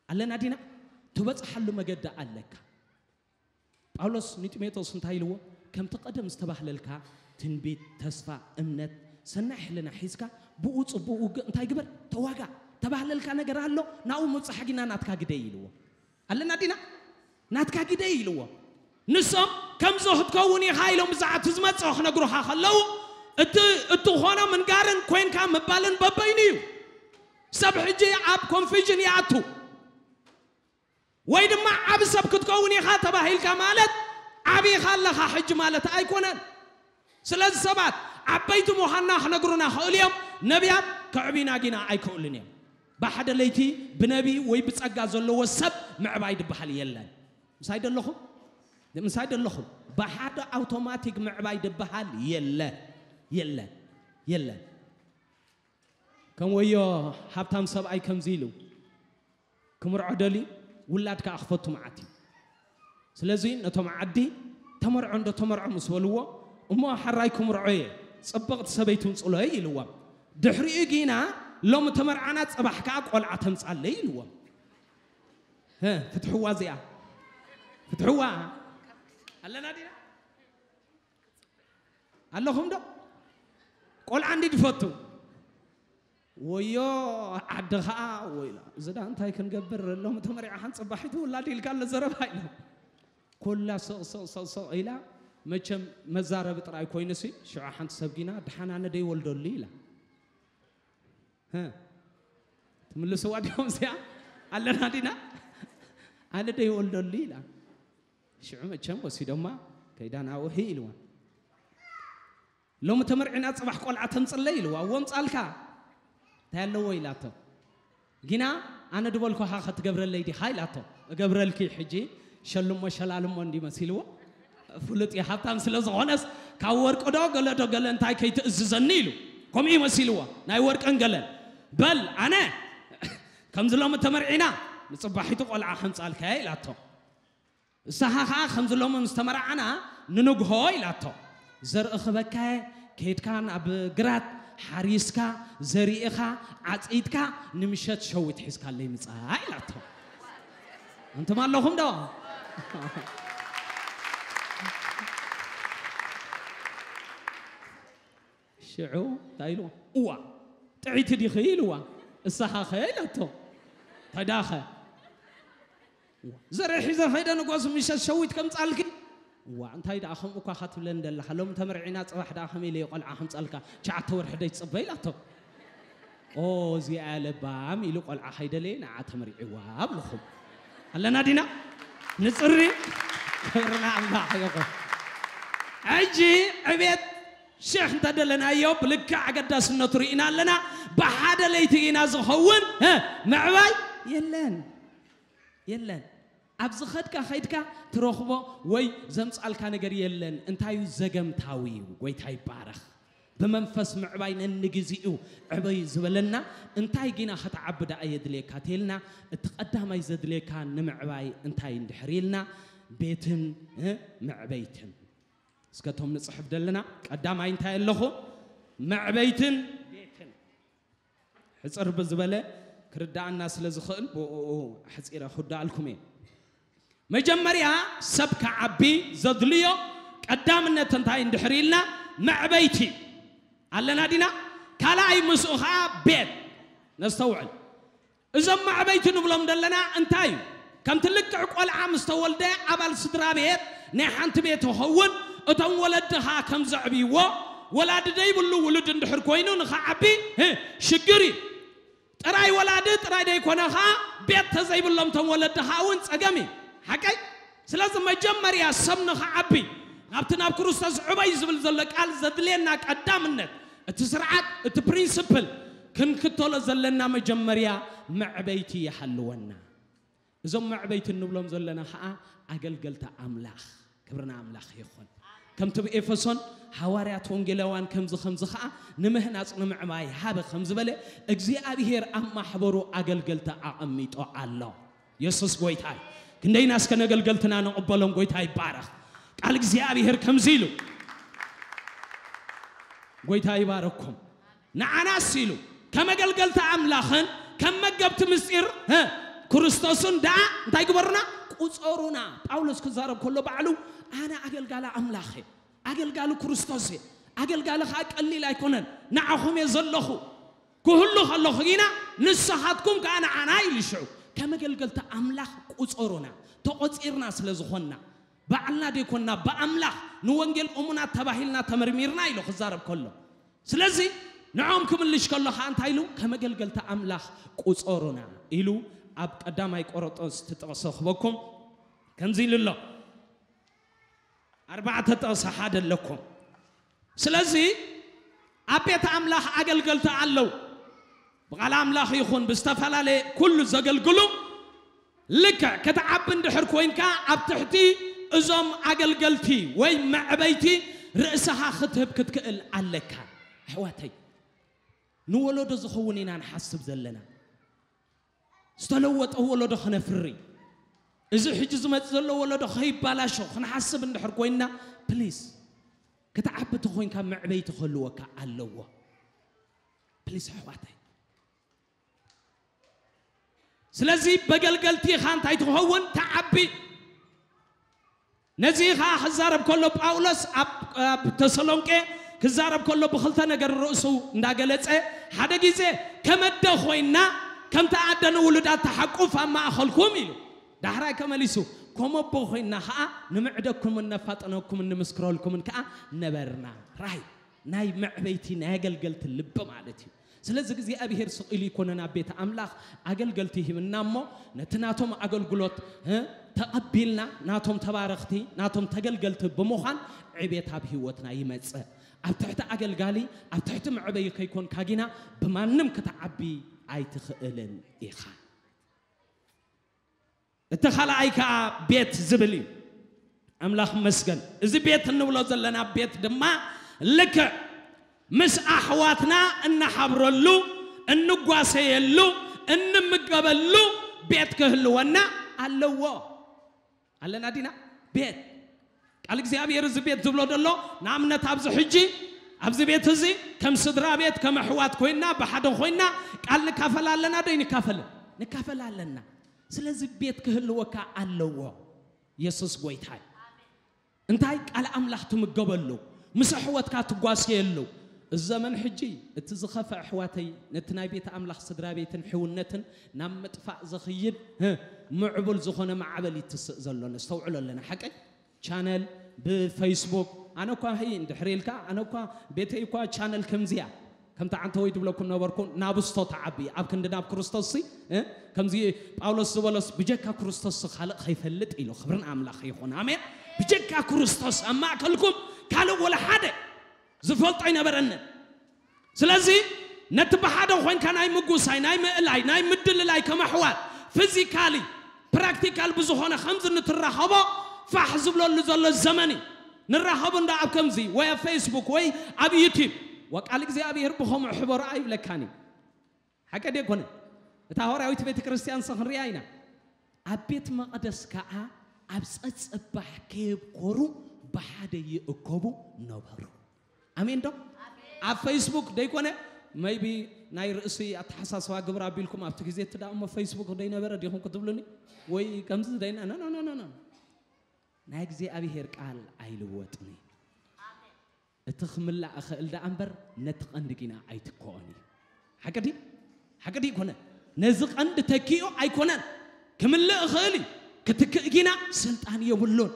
ኣለና ዲና? ትበጽሓሉ መገዲ ኣለካ። ጳውሎስ ንጢሞቴዎስ እንታይ ኢልዎ? ከምቲ ቀደም ዝተባህለልካ ትንቢት፣ ተስፋ፣ እምነት፣ ሰናይ ሕልና ሒዝካ ብኡ ጽቡቕ ውግእ እንታይ ግበር? ተዋጋ። ተባህለልካ ነገር ኣሎ፣ ናብኡ ምብጻሕ ጊና ናትካ ግደይ ኢልዎ። ኣለና ዲና? ናትካ ግደይ ኢልዎ። ንሶም ከምዚ ክትከውን ኢኻ ኢሎም ብዛዕባ እቲ ዝመጽኦ ክነግሩኻ ከለዉ፣ እቲ እትኾኖ ምንጋርን ኮይንካ ምባልን በበይኑ እዩ። ሰብ ሕጂ ኣብ ኮንፊዥን ይኣቱ። ወይ ድማ ዓቢ ሰብ ክትከውን ኢኻ ተባሂልካ ማለት ዓቢ ኢኻ ኣለኻ ሕጂ ማለት ኣይኮነን። ስለዚ ሰባት ዓበይቲ ምዃንና ክነግሩና ክእሉ እዮም፣ ነቢያት ከዕብዩና ጊና ኣይክእሉን እዮም። ብሓደ ለይቲ ብነቢ ወይ ብጸጋ ዘለዎ ሰብ ምዕባይ ድበሃል የለን። ምሳይ ደለኹም? ምሳይ ደለኹም? ብሓደ ኣውቶማቲክ ምዕባይ ድበሃል የለ፣ የለ፣ የለ። ከም ወዮ ሃብታም ሰብኣይ ከምዚ ኢሉ፣ ክምርዖ ደልዩ፣ ውላድ ከኣ ክፈቱ መዓት እዩ። ስለዚ ነቶም ዓዲ፣ "ተመርዖ እንዶ ተመርዖ" ምስ በልዎ፣ "እሞ ሓራይ ክምርዖ እየ፣ ጽብቕቲ ሰበይቲ ምጽሎይ" ኢልዎም። ድሕሪኡ ጊና፣ "ሎሚ ተመርዓና፣ ጽባሕ ከኣ ቆልዓ ተምጻለይ" ኢልዎም። ህ፣ ፍትሕዋ እዚኣ። ፍትሕዋ። ኣለና ዲና? ኣለኹም ዶ? ቆልዓ እንዲ ድፈቱ። ወዮ ዓዲ ኸኣ፣ ወይላ፣ እዚ ዳ እንታይ ክንገብር፣ ሎሚ ተመሪዓ ሓንቲ ጽባሒቱ ውላድ ኢልካ ኣሎ ዘረባ ኢላ። ኮላ ስቕ ስቕ ስቕ ስቕ ኢላ፣ መቸም መዛረቢ ጥራይ ኮይኑሲ፣ ሽዑ ሓንቲ ሰብ ጊና፣ "ደሓን ኣነ ደይወልደሉ" ኢላ። ህ፣ ትምልስዋ ዲኹም እዚኣ? ኣለና ዲና? "ኣነ ደይወልደሉ" ኢላ። ሽዑ መቸም ወሲዶማ፣ "ከይዳ ናብኡ" ኢልዋ። "ሎሚ ተመርዒና ጽባሕ ቆልዓ ተምጽለይ" ኢልዋ። "እዎ ምጻልካ፣ እንታይ ኣለዎ?" ኢላቶ። "ጊና ኣነ ድበልኩኻ ኸትገብረለይ ዲኻ?" ኢላቶ። "እገብረልኪ፣ ሕጂ ሸልሞ ሸላልሞ" እንዲ መሲልዎ። ፍሉጥ እዩ፣ ሃብታም ስለ ዝኾነስ ካብ ወርቂ ዶ ገለ ዶ ገለ እንታይ ከይትእዝዘኒ ኢሉ። ከምኡ እዩ መሲልዎ፣ ናይ ወርቅን ገለን። "በል ኣነ ከምዚ ሎሚ ተመርዒና ንጽባሒቱ ቆልዓ ከምጻልካያ" ኢላቶ። "እሳኻ ኸኣ ከምዚ ሎሚ ምስ ተመርዓና ንንግሆ" ኢላቶ። "ዘርኢ ክበካየ፣ ከይድካ ናብ ግራት ሓሪስካ፣ ዘሪእኻ፣ ዓጺድካ፣ ንምሸት ሸዊት ሒዝካለይ ምጻእ" ኢላቶ። ኣንቱም ኣለኹም ዶ? ሽዑ እንታይ ኢልዎ? "እዋ፣ ጥዕይቲ ዲኺ?" ኢልዋ። "እሳኻኸ?" ኢላቶ። "እንታይ ደኣኸ?" "እዋ፣ ዘርኢ ሒዘ ኸይደ ንጎስ ምሸት ሸዊት ከምጻልኪ?" "እዋ፣ እንታይ ደኣ ከምኡ እኳ ኸትብለኒ ደለኻ? ሎሚ ተመርዒና፣ ጽባሕ ደኣ ከመይ ኢለ እየ ቆልዓ ከምጻልካ? ትሽዓተ ወርሒ ደይትጽበ?" ኢላቶ። "ኦ፣ እዚኣ እያ ለባም" ኢሉ ቆልዓ ከይደለየ ንዓ ተመሪዕዋ ኣብልኹም። ኣለና ዲና? ንጽሪ። ክብሪ ንኣምላኽ ይኹን። ሕጂ ዕቤት ሽሕ እንተደለናዮ ብልክዕ ኣገዳስነቱ ርኢና ኣለና። ብሓደ ለይቲ ኢና ዝኸውን፣ እ፣ ምዕባይ የለን። የለን። ኣብ ዝኸድካ ኸይድካ ትረኽቦ ወይ ዘምጻልካ ነገር የለን። እንታይ እዩ? ዘገምታዊ እዩ። ጎይታ ይባረኽ። ብመንፈስ ምዕባይ ነንግዜኡ ዕበዩ ዝበለና እንታይ ጊና ኸትዓቢ ደኣ የድልየካ ተልና፣ እቲ ቐዳማይ ዘድልየካ ንምዕባይ እንታይ እንድሕር ኢልና፣ ቤትን፣ እ፣ መዕበይትን። እስከ እቶም ንጽሕፍ ደለና፣ ቀዳማይ እንታይ ኣለኹ? መዕበይትን ቤትን። ሕጽር ብዝበለ ክርድኣና ስለ ዝኽእል ብእኡ ኣሕጺረ ክውድኣልኩም እየ። መጀመርያ ሰብ ክዓቢ ዘድልዮ ቀዳምነት እንታይ እንድሕር ኢልና፣ መዕበይቲ ኣለና ዲና? ካልኣይ ምስኡ ኸዓ ቤት። ነስተውዕል። እዞም መዕበይቲ ንብሎም ዘለና እንታይ እዩ? ከምቲ ልክዕ ቆልዓ ምስ ተወልደ ኣባል ስድራ ቤት ናይ ሓንቲ ቤት ይኸውን። እቶም ወለድኻ ከም ዘዕብይዎ፣ ወላዲ ዘይብሉ ውሉድ እንድሕር ኮይኑ ንኸዓቢ ህ፣ ሽግር እዩ። ጥራይ ወላዲ ጥራይ ዘይኮነ ኸዓ ቤት ተዘይብሎም እቶም ወለድኻ እውን ጸገም እዩ። ሓቀይ? ስለዚ መጀመርያ ሰብ ንኽዓቢ ናብቲ ናብ ክርስቶስ ዕበይ ዝብል ዘሎ ቃል ዘድልየና ቀዳምነት እቲ ስርዓት፣ እቲ ፕሪንስፕል ክንክተሎ ዘለና መጀመርያ መዕበይቲ ይሃልወና። እዞም መዕበይቲ እንብሎም ዘለና ኸዓ ኣገልገልቲ ኣምላኽ፣ ክብርና ኣምላኽ ይኹን። ከምቲ ብኤፌሶን ሃዋርያት ወንጌላውያን ከምዚ ከምዚ ኸዓ ንምህናጽ ንምዕባይ ሃበ ከም ዝበለ እግዚኣብሔር ኣብ ማሕበሩ ኣገልገልቲ ኣቐሚጦ ኣሎ። የሱስ ጎይታ እዩ። ክንደይና እስከ ነገልገልትና ንቕበሎም። ጎይታ ይባረኽ። ቃል እግዚኣብሔር ከምዚ ኢሉ፣ ጎይታ ይባረኩም። ንዓናስ ኢሉ ከም ኣገልገልቲ ኣምላኽን ከም መገብቲ ምስጢር ህ፣ ክርስቶስን ደኣ እንታይ ግበሩና? ቁጸሩና። ጳውሎስ ክዛረብ ከሎ ባዕሉ ኣነ ኣገልጋሊ ኣምላኽ እየ፣ ኣገልጋሊ ክርስቶስ እየ፣ ኣገልጋሊ ኸዓ ቀሊል ኣይኮነን፣ ንዓኹም እየ ዘለኹ። ክህሉ ከለኹ ግና ንስኻትኩም ከኣ ንዓና ኢሉ ሽዑ ከም ኣገልገልቲ ኣምላኽ ቁጸሩና። ተቖጺርና ስለ ዝኾንና ባዕልና ደይኮንና ብኣምላኽ ንወንጌል እሙናት ተባሂልና ተመርሚርና ኢሉ ክዛረብ ከሎ፣ ስለዚ ንዖም ክምልሽ ከሎ ኸዓ እንታይ ኢሉ? ከም ኣገልገልቲ ኣምላኽ ቁጸሩና ኢሉ ኣብ ቀዳማይ ቆሮንጦስ ትጥቕሶ ክበኩም ከምዚ ኢሉ ኣሎ። ኣርባዕተ ጥቕሲ ሓደ ኣለኩም። ስለዚ ኣብ ቤት ኣምላኽ ኣገልገልቲ ኣለዉ። ብቓል ኣምላኽ ይኹን ብዝተፈላለየ ኩሉ ዘገልግሉ ልክዕ ክትዓቢ እንድሕር ኮይንካ ኣብ ትሕቲ እዞም ኣገልገልቲ ወይ መዕበይቲ ርእስኻ ክትህብ ክትክእል ኣለካ። ኣሕዋተይ፣ ንወለዶ ዝኸውን ኢና ንሓስብ ዘለና። ዝተለወጠ ወለዶ ክነፍሪ፣ እዚ ሕጂ ዝመጽእ ዘሎ ወለዶ ከይባላሾ ክንሓስብ እንድሕር ኮይንና፣ ፕሊስ ክትዓቢ ተኾይንካ መዕበይቲ ክህልወካ ኣለዎ። ፕሊስ ኣሕዋተይ። ስለዚ በገልገልቲ ኢኻ እንታይ ትኸውን? ትዓቢ። ነዚ ኸዓ ክዛረብ ከሎ ጳውሎስ ኣብ፣ ኣብ ተሰሎንቄ ክዛረብ ከሎ ብኽልተ ነገር ርእሱ እንዳገለጸ፣ ሓደ ግዜ ከመደ ኮይና ከምቲ ኣደ ንውሉዳ ተሓቁፍ ኣብ ማእኸልኩም ኢሉ። ዳሕራይ ከመሊሱ ከም ኣቦ ኮይና ኸዓ ንምዕደኩምን ነፋጥነኩምን ንምስክረልኩምን ከኣ ነበርና። ራይ ናይ መዕበይቲ ናይ ኣገልገልቲ ልቢ ማለት እዩ። ስለዚ እግዚኣብሔር ስቕ ኢሉ ይኮነን ኣብ ቤት ኣምላኽ ኣገልገልቲ ሂብና እሞ ነቲ ናቶም ኣገልግሎት እ፣ ተቐቢልና ናቶም ተባረኽቲ ናቶም ተገልገልቲ ብምዃን ዕቤት ኣብ ህይወትና ይመጽእ። ኣብ ትሕቲ ኣገልጋሊ ኣብ ትሕቲ መዕበዪ ከይኮንካ ጊና ብማንም ክትዓቢ ኣይትኽእልን ኢኻ። እቲ ካልኣይ ከኣ ቤት ዝብል እዩ። ኣምላኽ ይመስገን። እዚ ቤት እንብሎ ዘለና ቤት ድማ ልክዕ ምስ ኣሕዋትና እንሓብረሉ፣ እንጓሰየሉ፣ እንምገበሉ ቤት ክህልወና ኣለዎ። ኣለና ዲና? ቤት ቃል እግዚኣብሔር እዚ ቤት ዝብሎ ዘሎ ንኣብነት ኣብዚ ሕጂ ኣብዚ ቤት እዚ ከም ስድራ ቤት ከም ኣሕዋት ኮይና ብሓደ ኮይና ቃል ንካፈል ኣለና ዶ ይንካፈልን? ንካፈል ኣለና። ስለዚ ቤት ክህልወካ ኣለዎ። የሱስ ጎይታይ እንታይ ቃል ኣምላኽ ትምገበሉ ምስ ኣሕወትካ ትጓስየሉ እዚ ዘመን ሕጂ እቲ ዝኸፈ ኣሕዋተይ ነቲ ናይ ቤት ኣምላኽ ስድራ ቤትን ሕውነትን ናብ ምጥፋእ ዘኽይድ ህ፣ ምዕቡል ዝኾነ ማዕበል ይትስእ ዘሎ ነስተውዕሎ ኣለና ሓቀይ ቻነል ብፌስቡክ ኣነ እኳ ህይ እንድሕር ኢልካ ኣነ እኳ ቤተይ እኳ ቻነል ከምዚያ ከምቲ ዓንተወይ ትብለኩም ነበርኩ ናብስቶ ተዓቢ ኣብ ክንዲ ናብ ክርስቶስ ሲ እ? ከምዚ ጳውሎስ ዝበሎስ ብጀካ ክርስቶስ ካልእ ከይፈልጥ ኢሉ ክብርን ኣምላኽ ይኹን ኣሜን ብጀካ ክርስቶስ ኣብ ማእከልኩም ካልእ ወላ ሓደ ዝፈልጦ ኣይነበረንን ስለዚ ነቲ ብሓደ ኮንካ ናይ ምጉሳይ ናይ ምእላይ ናይ ምድልላይ ከም ኣሕዋት ፊዚካሊ ፕራክቲካል ብዝኾነ ከምዚ ንትራኸቦ ፋሕ ዝብለሉ ዘሎ ዘመን እዩ ንራኸቡ እንዳ ኣብ ከምዚ ወይ ኣብ ፌስቡክ ወይ ኣብ ዩቲብ ወቃል እግዚኣብሔር ብኸምኡ ሕበሩ ኣይብለካን እዩ ሓቀ ደኮነ እታ ሃዋርያዊት ቤተ ክርስቲያን ሰኽንሪያ ኢና ኣብ ቤት መቕደስ ከዓ ኣብ ጸጸባሕ ከየብኮሩ ብሓደ ይእከቡ ነበሩ ኣሜን ዶ ኣብ ፌስቡክ ደይኮነ maybe ናይ ርእሲ ኣተሓሳስባ ግብር ኣቢልኩም ኣብቲ ግዜ እቲ ደኣ እሞ ፌስቡክ ደይነበረ ዲኹም ክትብሉኒ ወይ ከምዚ ደይና no no no no no ናይ እግዚኣብሔር ቃል ኣይልወጥን እዩ እቲ ክምላእ እኽእል ደኣ እምበር ነቲ ቀንዲ ጊና ኣይትከኦን እዩ ሓቂ ድዩ ሓቂ ድዩ ይኮነ? ነዚ ቀንዲ ተኪኡ ኣይኮነን። ክምልእ ይኽእል እዩ፣ ክትክእ ግና ስልጣን የብሉን።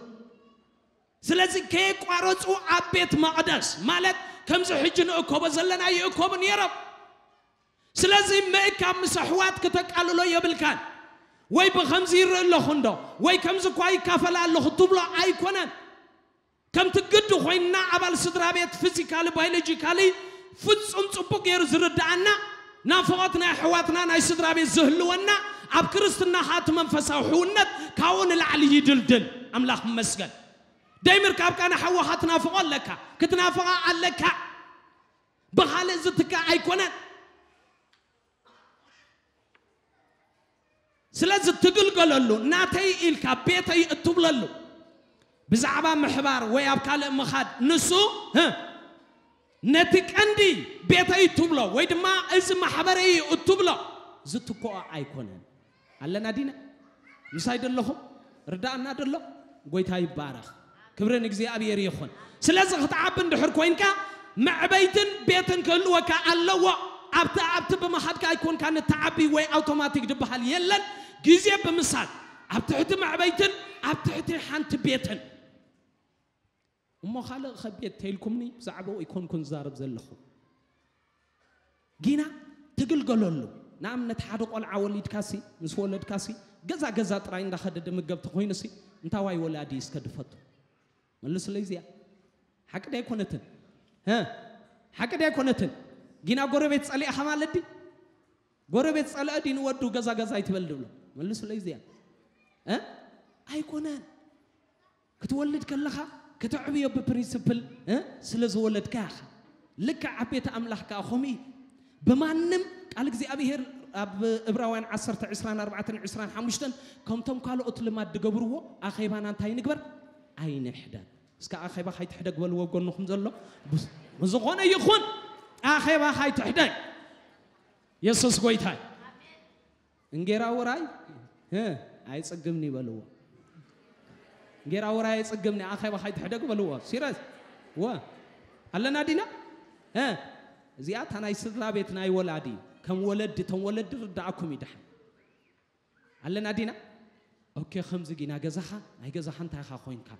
ስለዚ ከየቋረጹ ኣብ ቤት መቕደስ፣ ማለት ከምዚ ሕጂ ንእከቦ ዘለና ይእከቡ ነይሮም። ስለዚ ምእካብ ምስ ኣሕዋት ክተቃልሎ የብልካን። ወይ ብኸምዚ ይርኢ ኣለኹ እንዶ፣ ወይ ከምዚ እኳ ይካፈል ኣለኹ ትብሎ ኣይኮነን። ከምቲ ግዲ ኮይንና ኣባል ስድራ ቤት ፊዚካሊ ባዮሎጂካሊ ፍጹም ጽቡቅ ገይሩ ዝርድኣና፣ ናፍቖት ናይ ኣሕዋትና ናይ ስድራ ቤት ዝህልወና፣ ኣብ ክርስትና ኸኣ እቲ መንፈሳዊ ሕውነት ካብኡ ንላዕሊ ይድልድል። ኣምላኽ ይመስገን። ደይምርካብካ ንሓውኻ ትናፍቖ ኣለካ፣ ክትናፍቓ ኣለካ። ብኻልእ ዝትካእ ኣይኮነን። ስለዚ ትግልገለሉ፣ ናተይ ኢልካ ቤተይ እትብለሉ፣ ብዛዕባ ምሕባር ወይ ኣብ ካልእ ምኻድ፣ ንሱ፣ ህ፣ ነቲ ቀንዲ ቤተይ እትብሎ ወይ ድማ እዚ ማሕበረይ እዩ እትብሎ ዝትክኦ ኣይኮነን። ኣለና ዲና? ምሳይ ደለኹም? ርዳእና ደሎ? ጎይታ ይባረኽ። ክብሪ ንእግዚኣብሔር ይኹን። ስለዚ ክትዓቢ እንድሕር ኮይንካ፣ መዕበይትን ቤትን ክህልወካ ኣለዎ። ኣብቲ ኣብቲ ብምኻድካ ኣይኮንካ ንትዓቢ ወይ ኣውቶማቲክ ዝበሃል የለን። ግዜ ብምሳል፣ ኣብ ትሕቲ መዕበይትን ኣብ ትሕቲ ሓንቲ ቤትን። እሞ ካልእ ኸ ቤት ተይልኩምኒ፣ ብዛዕባኡ ኣይኮንኩን ዝዛረብ ዘለኹ። ጊና ትግልገለሉ። ንኣብነት ሓደ ቆልዓ ወሊድካሲ፣ ምስ ወለድካሲ፣ ገዛ ገዛ ጥራይ እንዳኸደ ድምገብ ተኾይኑሲ፣ እንታዋይ ወላዲ እስከ ድፈቱ? መልሱለይ እዚኣ። ሓቂ ዶ ኣይኮነትን? ሀ? ሓቂ ዶ ኣይኮነትን? ጊና ጎረቤት ጸሊእኻ ማለት ድዩ? ጎረቤት ጸልአ ድዩ ንወዱ ገዛ ገዛ ኣይትበል ድብሎ? መልሱለይ እዚኣ። እ? ኣይኮነን። ክትወልድ ከለኻ ከተዕብዮ ብፕሪንስፕል፣ እ? ስለ ዝወለድካ ኢኻ። ልክዕ ኣብ ቤት ኣምላኽ ከኣ ኸምኡ እዩ። ብማንም ቃል እግዚኣብሔር ኣብ ዕብራውያን ዓሰርተ ዕስራን ኣርባዕተን ዕስራን ሓሙሽተን ከምቶም ካልኦት ልማድ ዝገብርዎ ኣኼባና እንታይ ንግበር? ኣይንሕደግ። እስከ ኣኼባ ካይትሕደግ በልዎ ጎንኹም ዘሎ። ብስ-፣ ብዝኾነ ይኹን ኣኼባ ካይትሕደግ። የሱስ ጎይታ እዩ። እንጌራ ውራይ፣ እ፣ ኣይጽግምኒ በልዎ። እንጌራ ውራይ ኣይጽግምኒ፣ ኣኼባ ካይትሕደግ በልዎ። ሲረስ፣ ወ፣ ኣለና ዲና? እ፣ እዚኣ እታ ናይ ስድራ ቤት ናይ ወላዲ፣ ከም ወለዲ፣ እቶም ወለዲ ርዳኣኩም ይድሓን። ኣለና ዲና? ኦኬ፣ ከምዚ ጊና ገዛኻ፣ ናይ ገዛኻ እንታይ ኢኻ ኮይንካ?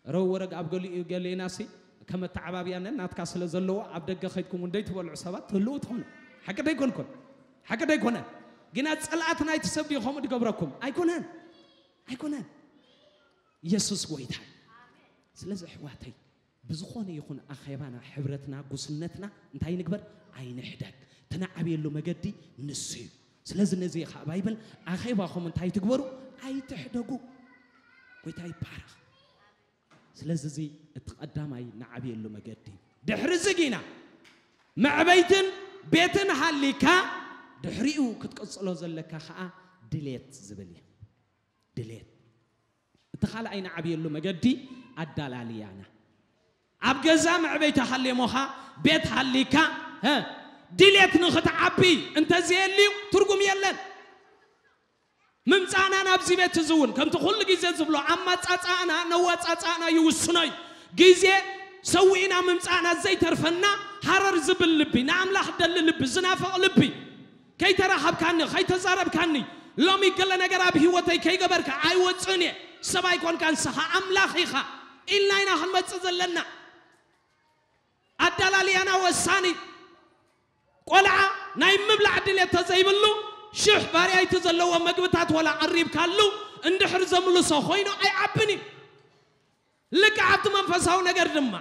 ረው ወረግ ኣብ ገሊኡ ገሌናሲ፣ ከም ኣተዓባብያነ ናትካ ስለ ዘለዎ፣ ኣብ ደገ ከይድኩም እውን ደይትበልዑ ሰባት ትህልዉ ትኾኑ። ሓቂ ደይኮንኩን? ሓቂ ደይኮነን? ግና ጸልኣት ናይቲ ሰብ ድዩ ከምኡ ድገብረኩም? ኣይኮነን። ኣይኮነን። የሱስ ጎይታ እዩ። ስለዚ ኣሕዋተይ፣ ብዝኾነ ይኹን ኣኼባና፣ ሕብረትና፣ ጉስነትና እንታይ ንግበር? ኣይንሕደግ። ትንዓብየሉ መገዲ ንሱ እዩ። ስለዚ ነዚ እዩ ኸዓ ባይብል፣ ኣኼባኹም እንታይ ትግበሩ? ኣይትሕደጉ። ጎይታ ይባረኽ። ስለዚ እዚ እቲ ቀዳማይ ንዓብየሉ መገዲ እዩ። ድሕሪ እዚ ጊና መዕበይትን ቤትን ሃሊካ፣ ድሕሪኡ ክትቅጽሎ ዘለካ ኸዓ ድሌት ዝብል እዩ። ድሌት። እቲ ካልኣይ ንዓብየሉ መገዲ ኣዳላልያና። ኣብ ገዛ መዕበይቲ ሃልየሞኻ፣ ቤት ሃሊካ፣ ሀ፣ ድሌት ንኽትዓቢ እንተዘየልዩ ትርጉም የለን። ምምጻእና ናብዚ ቤት እዚ እውን ከምቲ ኩሉ ግዜ ዝብሎ ኣማጻጻእና ነዋጻጻእና ይውስኖ እዩ። ግዜ ሰዊእና ምምጻእና ዘይተርፈና ሃረር ዝብል ልቢ፣ ንኣምላኽ ደሊ ልቢ፣ ዝናፍቕ ልቢ፣ ከይተራኸብካኒ፣ ከይተዛረብካኒ፣ ሎሚ ገለ ነገር ኣብ ህይወተይ ከይገበርካ ኣይወጽእን እየ። ሰብ ኣይኮንካ ንስኻ ኣምላኽ ኢኻ ኢልና ኢና ክንመጽእ ዘለና። ኣዳላልያና ወሳኒ። ቆልዓ ናይ ምብላዕ ድሌት ተዘይብሉ ሽሕ ቫርያይቲ ዘለዎ መግብታት ወላ ቀሪብካሉ እንድሕር ዘምልሶ ኮይኑ ኣይዓብን እዩ። ልክዕ ኣብቲ መንፈሳዊ ነገር ድማ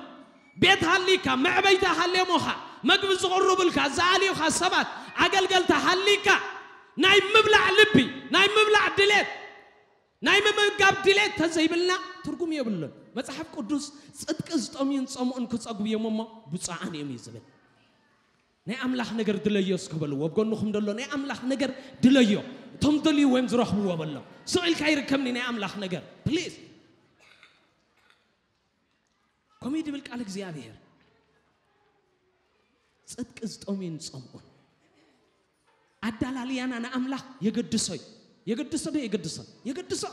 ቤት ሃሊካ፣ መዕበይቲ ሃልየሞኻ፣ መግቢ ዝቕርቡልካ፣ ዝኣልዩኻ ሰባት፣ ኣገልገልቲ ሃሊካ፣ ናይ ምብላዕ ልቢ፣ ናይ ምብላዕ ድሌት፣ ናይ ምምጋብ ድሌት ተዘይብልና ትርጉም የብሉን። መጽሓፍ ቅዱስ ጽድቂ ዝጠምዩን ዝጸምኡን ክጸግቡ እዮም እሞ ብፁዓን እዮም እዩ ዝብል። ናይ ኣምላኽ ነገር ድለዮ እስከ በልዎ። ኣብ ጎንኹም ደሎ ናይ ኣምላኽ ነገር ድለዮ። እቶም ደልዩ ወይም ዝረኽብዎ በሎ። ስቕ ኢልካ ይርከብኒ ናይ ኣምላኽ ነገር። ፕሊዝ። ከምኡ እዩ ድብል ቃል እግዚኣብሔር። ጽድቂ ዝጠምዩን ዝጸምኡን። ኣዳላልያና ንኣምላኽ የገድሶ እዩ። የገድሶ ዶ የገድሶ? የገድሶ።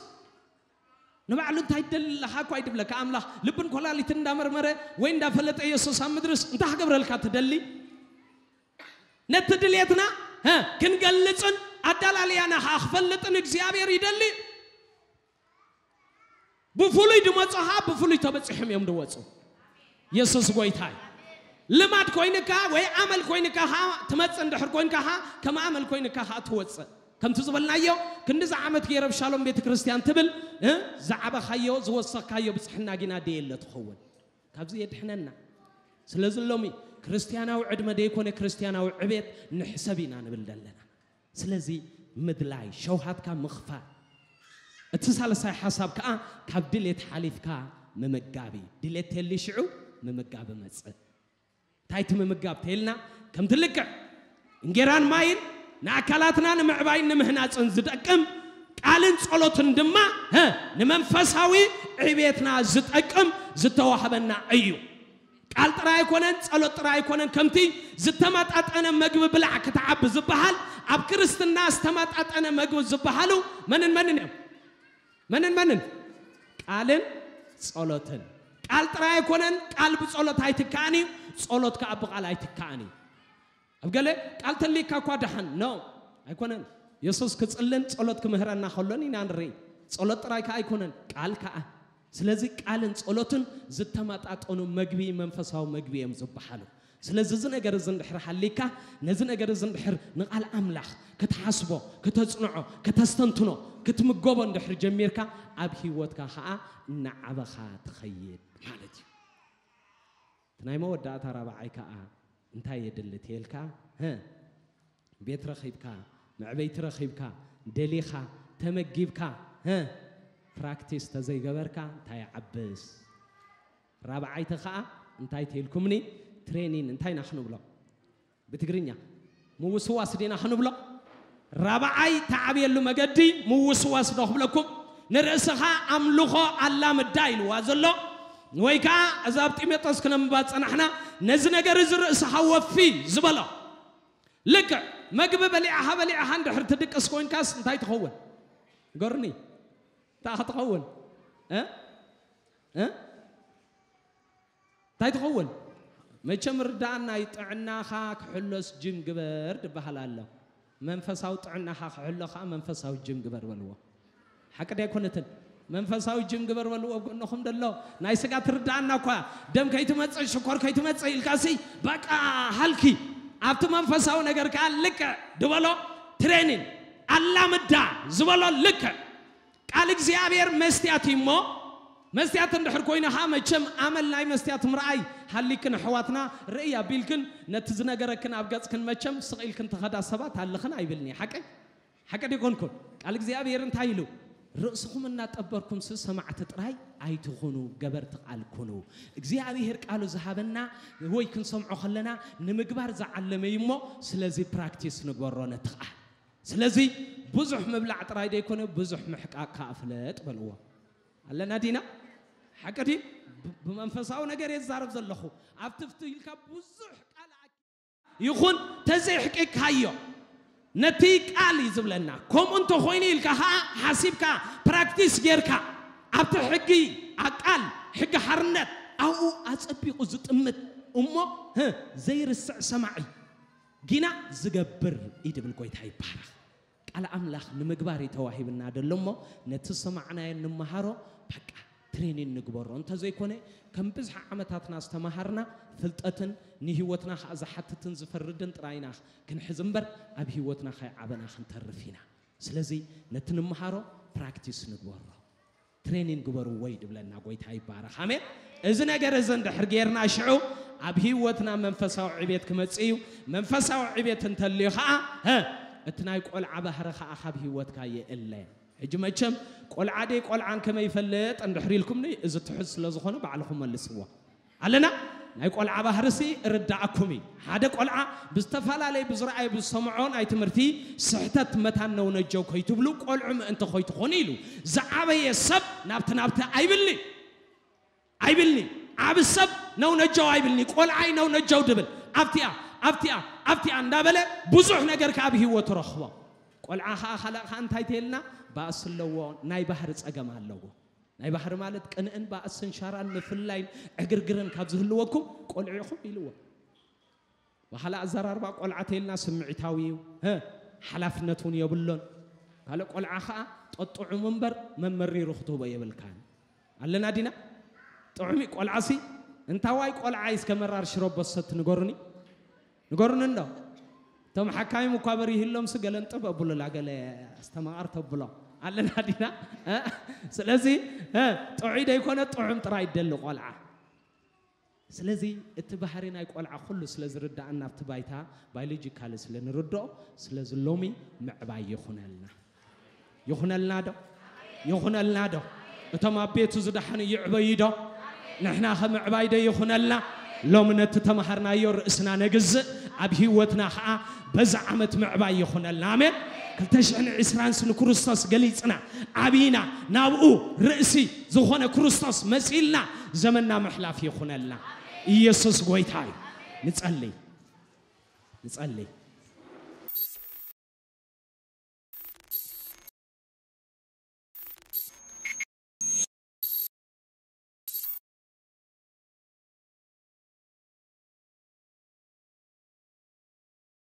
ንባዕሉ እንታይ ትደሊ ኣለኻ እኳ ኣይድብለካ። ኣምላኽ ልብን ኮላሊትን እንዳመርመረ ወይ እንዳፈለጠ የሱስ ኣብ ምድርስ እንታይ ክገብረልካ ትደሊ? ነቲ ድልየትና ሀ፣ ክንገልጽን ኣዳላልያና ኸዓ ክፈልጥን እግዚኣብሔር ይደሊ። ብፍሉይ ድመጹ ኸዓ ብፍሉይ ተበጺሖም እዮም ድወጹ። የሱስ ጎይታ እዩ። ልማድ ኮይንካ ወይ ኣመል ኮይንካ ኸዓ ትመጽእ እንድሕር ኮይንካ ኸዓ ከም ኣመል ኮይንካ ኸዓ ትወጽእ። ከምቲ ዝበልናዮ ክንድዚ ዓመት ገይረ ኣብ ሻሎም ቤተ ክርስቲያን ትብል እ ዝዓበኻዮ ዝወሰኽካዮ ብጽሕና ጊና ደየለ ትኸውን። ካብዚ የድሕነና። ስለዚ ሎሚ ክርስትያናዊ ዕድመ ደይኮነ ክርስትያናዊ ዕቤት ንሕሰብ ኢና ንብል ዘለና። ስለዚ ምድላይ ሸውሃትካ ምኽፋል። እቲ ሳልሳይ ሓሳብ ከዓ ካብ ድሌት ሓሊፍካ ምምጋብ እዩ። ድሌት ተሊ ሽዑ ምምጋብ መጽእ። እንታይ እቲ ምምጋብ ተይልና ከምቲ ልክዕ እንጌራን ማይን ንኣካላትና ንምዕባይን ንምህናፅን ዝጠቅም ቃልን ጸሎትን ድማ ሀ ንመንፈሳዊ ዕቤትና ዝጠቅም ዝተዋህበና እዩ። ቃል ጥራይ ኣይኮነን፣ ጸሎት ጥራይ ኣይኮነን። ከምቲ ዝተመጣጠነ መግቢ ብላዕ ክትዓቢ ዝበሃል ኣብ ክርስትና ዝተመጣጠነ መግቢ ዝበሃሉ መንን መንን እዮም? መንን መንን? ቃልን ጸሎትን። ቃል ጥራይ ኣይኮነን፣ ቃል ብጸሎት ኣይትካእን እዩ፣ ጸሎት ከኣ ብቃል ኣይትካእን እዩ። ኣብ ገለ ቃል ተልይካ እኳ ደሓን፣ ኖ፣ ኣይኮነን። የሱስ ክጽልን ጸሎት ክምህረና ከሎን ኢና ንርኢ። ጸሎት ጥራይ ከኣ ኣይኮነን፣ ቃል ከኣ። ስለዚ ቃልን ጸሎትን ዝተመጣጠኑ መግቢ፣ መንፈሳዊ መግቢ እዮም ዝበሃሉ። ስለዚ እዚ ነገር እዚ እንድሕር ሃሊካ፣ ነዚ ነገር እዚ እንድሕር ንቓል ኣምላኽ ክትሓስቦ፣ ከተጽንዖ፣ ከተስተንትኖ፣ ክትምገቦ እንድሕር ጀሚርካ፣ ኣብ ህይወትካ ኸኣ እናዓበኻ ትኸይድ ማለት እዩ። እቲ ናይ መወዳእታ ራብዓይ ከኣ እንታይ የድሊ ተልካ? ሀ፣ ቤት ረኺብካ፣ መዕበይቲ ረኺብካ፣ ደሊኻ፣ ተመጊብካ፣ ሀ፣ ፕራክቲስ ተዘይገበርካ እንታይ ይዓብስ? ራብዓይቲ ኸኣ እንታይ ተልኩምኒ? ትሬኒን እንታይ ኢና ክንብሎ? ብትግርኛ ምውስዋስ ዲና ክንብሎ? ራብዓይ ተዓብየሉ መገዲ ምውስዋስ ዶ ክብለኩም? ንርእስኻ ኣምልኾ ኣላምዳ ኢልዋ ዘሎ፣ ወይ ከኣ እዛ ኣብ ጢሞቴዎስ ክነንብባ ዝጸናሕና፣ ነዚ ነገር እዚ ርእስኻ ወፊ ዝበሎ። ልክዕ መግቢ በሊዕኻ በሊዕኻ እንድሕር ትድቅስ ኮይንካስ እንታይ ትኸውን? ንገሩኒ። እንታይ ክትኸውን? እ? እ? እንታይ ትኸውን? መቸም ርዳእና እዩ፣ ጥዕናኻ ክሕሎስ ጅም ግበር ድበሃል ኣሎ። መንፈሳዊ ጥዕናኻ ክሕሎ ኸዓ መንፈሳዊ ጅም ግበር በልዎ። ሓቂ ዶ ኣይኮነትን? መንፈሳዊ ጅም ግበር በልዎ ኣብ ጎንኹም ደሎ። ናይ ስጋ ትርዳእና እኳ፣ ደም ከይትመጽእ፣ ሽኮር ከይትመጽእ ኢልካሲ በቃ ሃልኪ። ኣብቲ መንፈሳዊ ነገር ከኣ ልክዕ ድበሎ ትሬኒን ኣላምዳ ዝበሎ ልክዕ ቃል እግዚኣብሔር መስትያት እዩ እሞ፣ መስትያት እንድሕር ኮይኑ ኸዓ መቸም ኣመል ናይ መስትያት ምርኣይ ሃሊክን ኣሕዋትና ርእይ ኣቢልክን ነቲ ዝነገረክን ኣብ ገጽክን መቸም ስቕ ኢልክን ትኸዳ ሰባት ኣለኽን ኣይብልኒ። ሓቀይ? ሓቂ ዶ ይኮንኩን? ቃል እግዚኣብሔር እንታይ ኢሉ? ርእስኹም እናጠበርኩምሲ ሰማዕቲ ጥራይ ኣይትኹኑ፣ ገበርቲ ቃል ኩኑ። እግዚኣብሔር ቃሉ ዝሃበና ወይ ክንሰምዖ ከለና ንምግባር ዝዓለመ እዩ እሞ፣ ስለዚ ፕራክቲስ ንግበሮ ነቲ ቃል። ስለዚ ብዙሕ ምብላዕ ጥራይ ደይኮነ፣ ብዙሕ ምሕቃቅ ከኣ ፍለጥ በልዎ። ኣለና ዲና? ሓቂ ድዩ? ብ-፣ ብመንፈሳዊ ነገር እየ ዝዛረብ ዘለኹ። ኣብ ትፍቲ ኢልካ ብዙሕ ቃል ኣኪ-፣ ይኹን ተዘይሕቂቅካዮ፣ ነቲ ቃል እዩ ዝብለና። ከምኡ እንተኾይኑ ኢልካ ኸኣ ሓሲብካ፣ ፕራክቲስ ጌርካ፣ ኣብቲ ሕጊ፣ ኣቃል፣ ሕጊ ሓርነት፣ ኣብኡ ኣጸቢቑ ዝጥምት እሞ፣ ህ፣ ዘይርስዕ ሰማዒ፣ ጊና ዝገብር እዩ ድብል ጎይታ ይባረኽ። ቃል ኣምላኽ ንምግባር እዩ ተዋሂብና ደሎ እሞ፣ ነቲ ዝሰማዕናዮ ንመሃሮ፣ በቃ ትሬኒን ንግበሮ። እንተዘይኮነ፣ ከም ብዝሒ ዓመታትና ዝተመሃርና ፍልጠትን ንህይወትና ኸኣ ዝሓትትን ዝፈርድን ጥራይ ኢና ክንሕዝ እምበር፣ ኣብ ህይወትና ከይዓበና ክንተርፍ ኢና። ስለዚ ነቲ ንምሃሮ ፕራክቲስ ንግበሮ። ትሬኒን ግበርዎ እዩ ድብለና ጎይታ ይባረኽ። ኣሜን። እዚ ነገር እዚ እንድሕር ጌርና ሽዑ ኣብ ህይወትና መንፈሳዊ ዕቤት ክመጽእ እዩ። መንፈሳዊ ዕቤት እንተልዩ ኸዓ፣ ሀ፣ እቲ ናይ ቆልዓ ባህሪ ኸዓ ካብ ህይወትካ ይእለ። ሕጂ መቸም ቆልዓ ደይ ቆልዓን ከመይ ይፈልጥ እንድሕር ኢልኩምኒ፣ እዚ ትሑዝ ስለ ዝኾነ ባዕልኹም መልስዎ። ኣለና? ናይ ቆልዓ ባህርሲ ርዳእኩም እዩ። ሓደ ቆልዓ ብዝተፈላለየ ብዝረኣየ ብዝሰምዖ ናይ ትምህርቲ ስሕተት መታን ነውነጀው ከይትብሉ ቆልዑ ምእንቲ ከይትኾኑ ኢሉ ዝዓበየ ሰብ ናብቲ ናብቲ ኣይብልኒ። ኣይብልኒ። ዓቢ ሰብ ነውነጀው ኣይብልኒ። ቆልዓይ ነውነጀው ድብል። ኣብቲኣ፣ ኣብቲኣ፣ ኣብቲኣ እንዳበለ ብዙሕ ነገር ከኣ ኣብ ህይወቱ ረኽቦ። ቆልዓ ከኣ ካልእ ከኣ እንታይ ተይልና ባእሲ ኣለዎ፣ ናይ ባህሪ ጸገም ኣለዎ። ናይ ባህሪ ማለት ቅንእን ባእስን ሻራን ምፍልላይን ዕግርግርን ካብ ዝህልወኩም ቆልዑ ኢኹም ኢልዎ። ብኻልእ ኣዘራርባ ቆልዓ ተይልና ስምዒታዊ እዩ። ሀ፣ ሓላፍነት እውን የብሎን። ካልእ ቆልዓ ኸዓ ጠጥዑም እምበር መመሪሩ ክትህቦ የብልካን። ኣለና ዲና? ጥዑም እዩ ቆልዓሲ። እንታዋይ ቆልዓ እዩ እስከ መራር ሽሮ በሰት ንገሩኒ። ንገሩኒ እንዶ። እቶም ሓካይም እኳ በሪህሎምሲ ገለ እንጥብ ኣብሉላ፣ ገለ ኣስተማቐር ተብሎ። ኣለና ዲና? እ? ስለዚ፣ እ፣ ጥዑይ ደይኮነ ጥዑም ጥራይ ይደሊ ቆልዓ። ስለዚ እቲ ባህሪ ናይ ቆልዓ ኩሉ ስለ ዝርዳኣና ኣብቲ ባይታ ባዮሎጂካሊ ስለ ንርድኦ፣ ስለዚ ሎሚ ምዕባይ ይኹነልና። ይኹነልና ዶ? ይኹነልና ዶ? እቶም ኣብ ቤቱ ዝደሓኑ ይዕበዩ ዶ? ንሕና ኸ ምዕባይ ዶ ይኹነልና? ሎሚ ነቲ ተምሃርናዮ ርእስና ነግዝእ፣ ኣብ ህይወትና ኸዓ በዛ ዓመት ምዕባይ ይኹነልና። ኣሜን። ክልተ ሽሕን ዕስራንስ ንክርስቶስ ገሊጽና፣ ዓቢና፣ ናብኡ ርእሲ ዝኾነ ክርስቶስ መሲልና ዘመንና ምሕላፍ ይኹነልና። ኢየሱስ ጎይታ እዩ። ንጸልይ፣ ንጸልይ።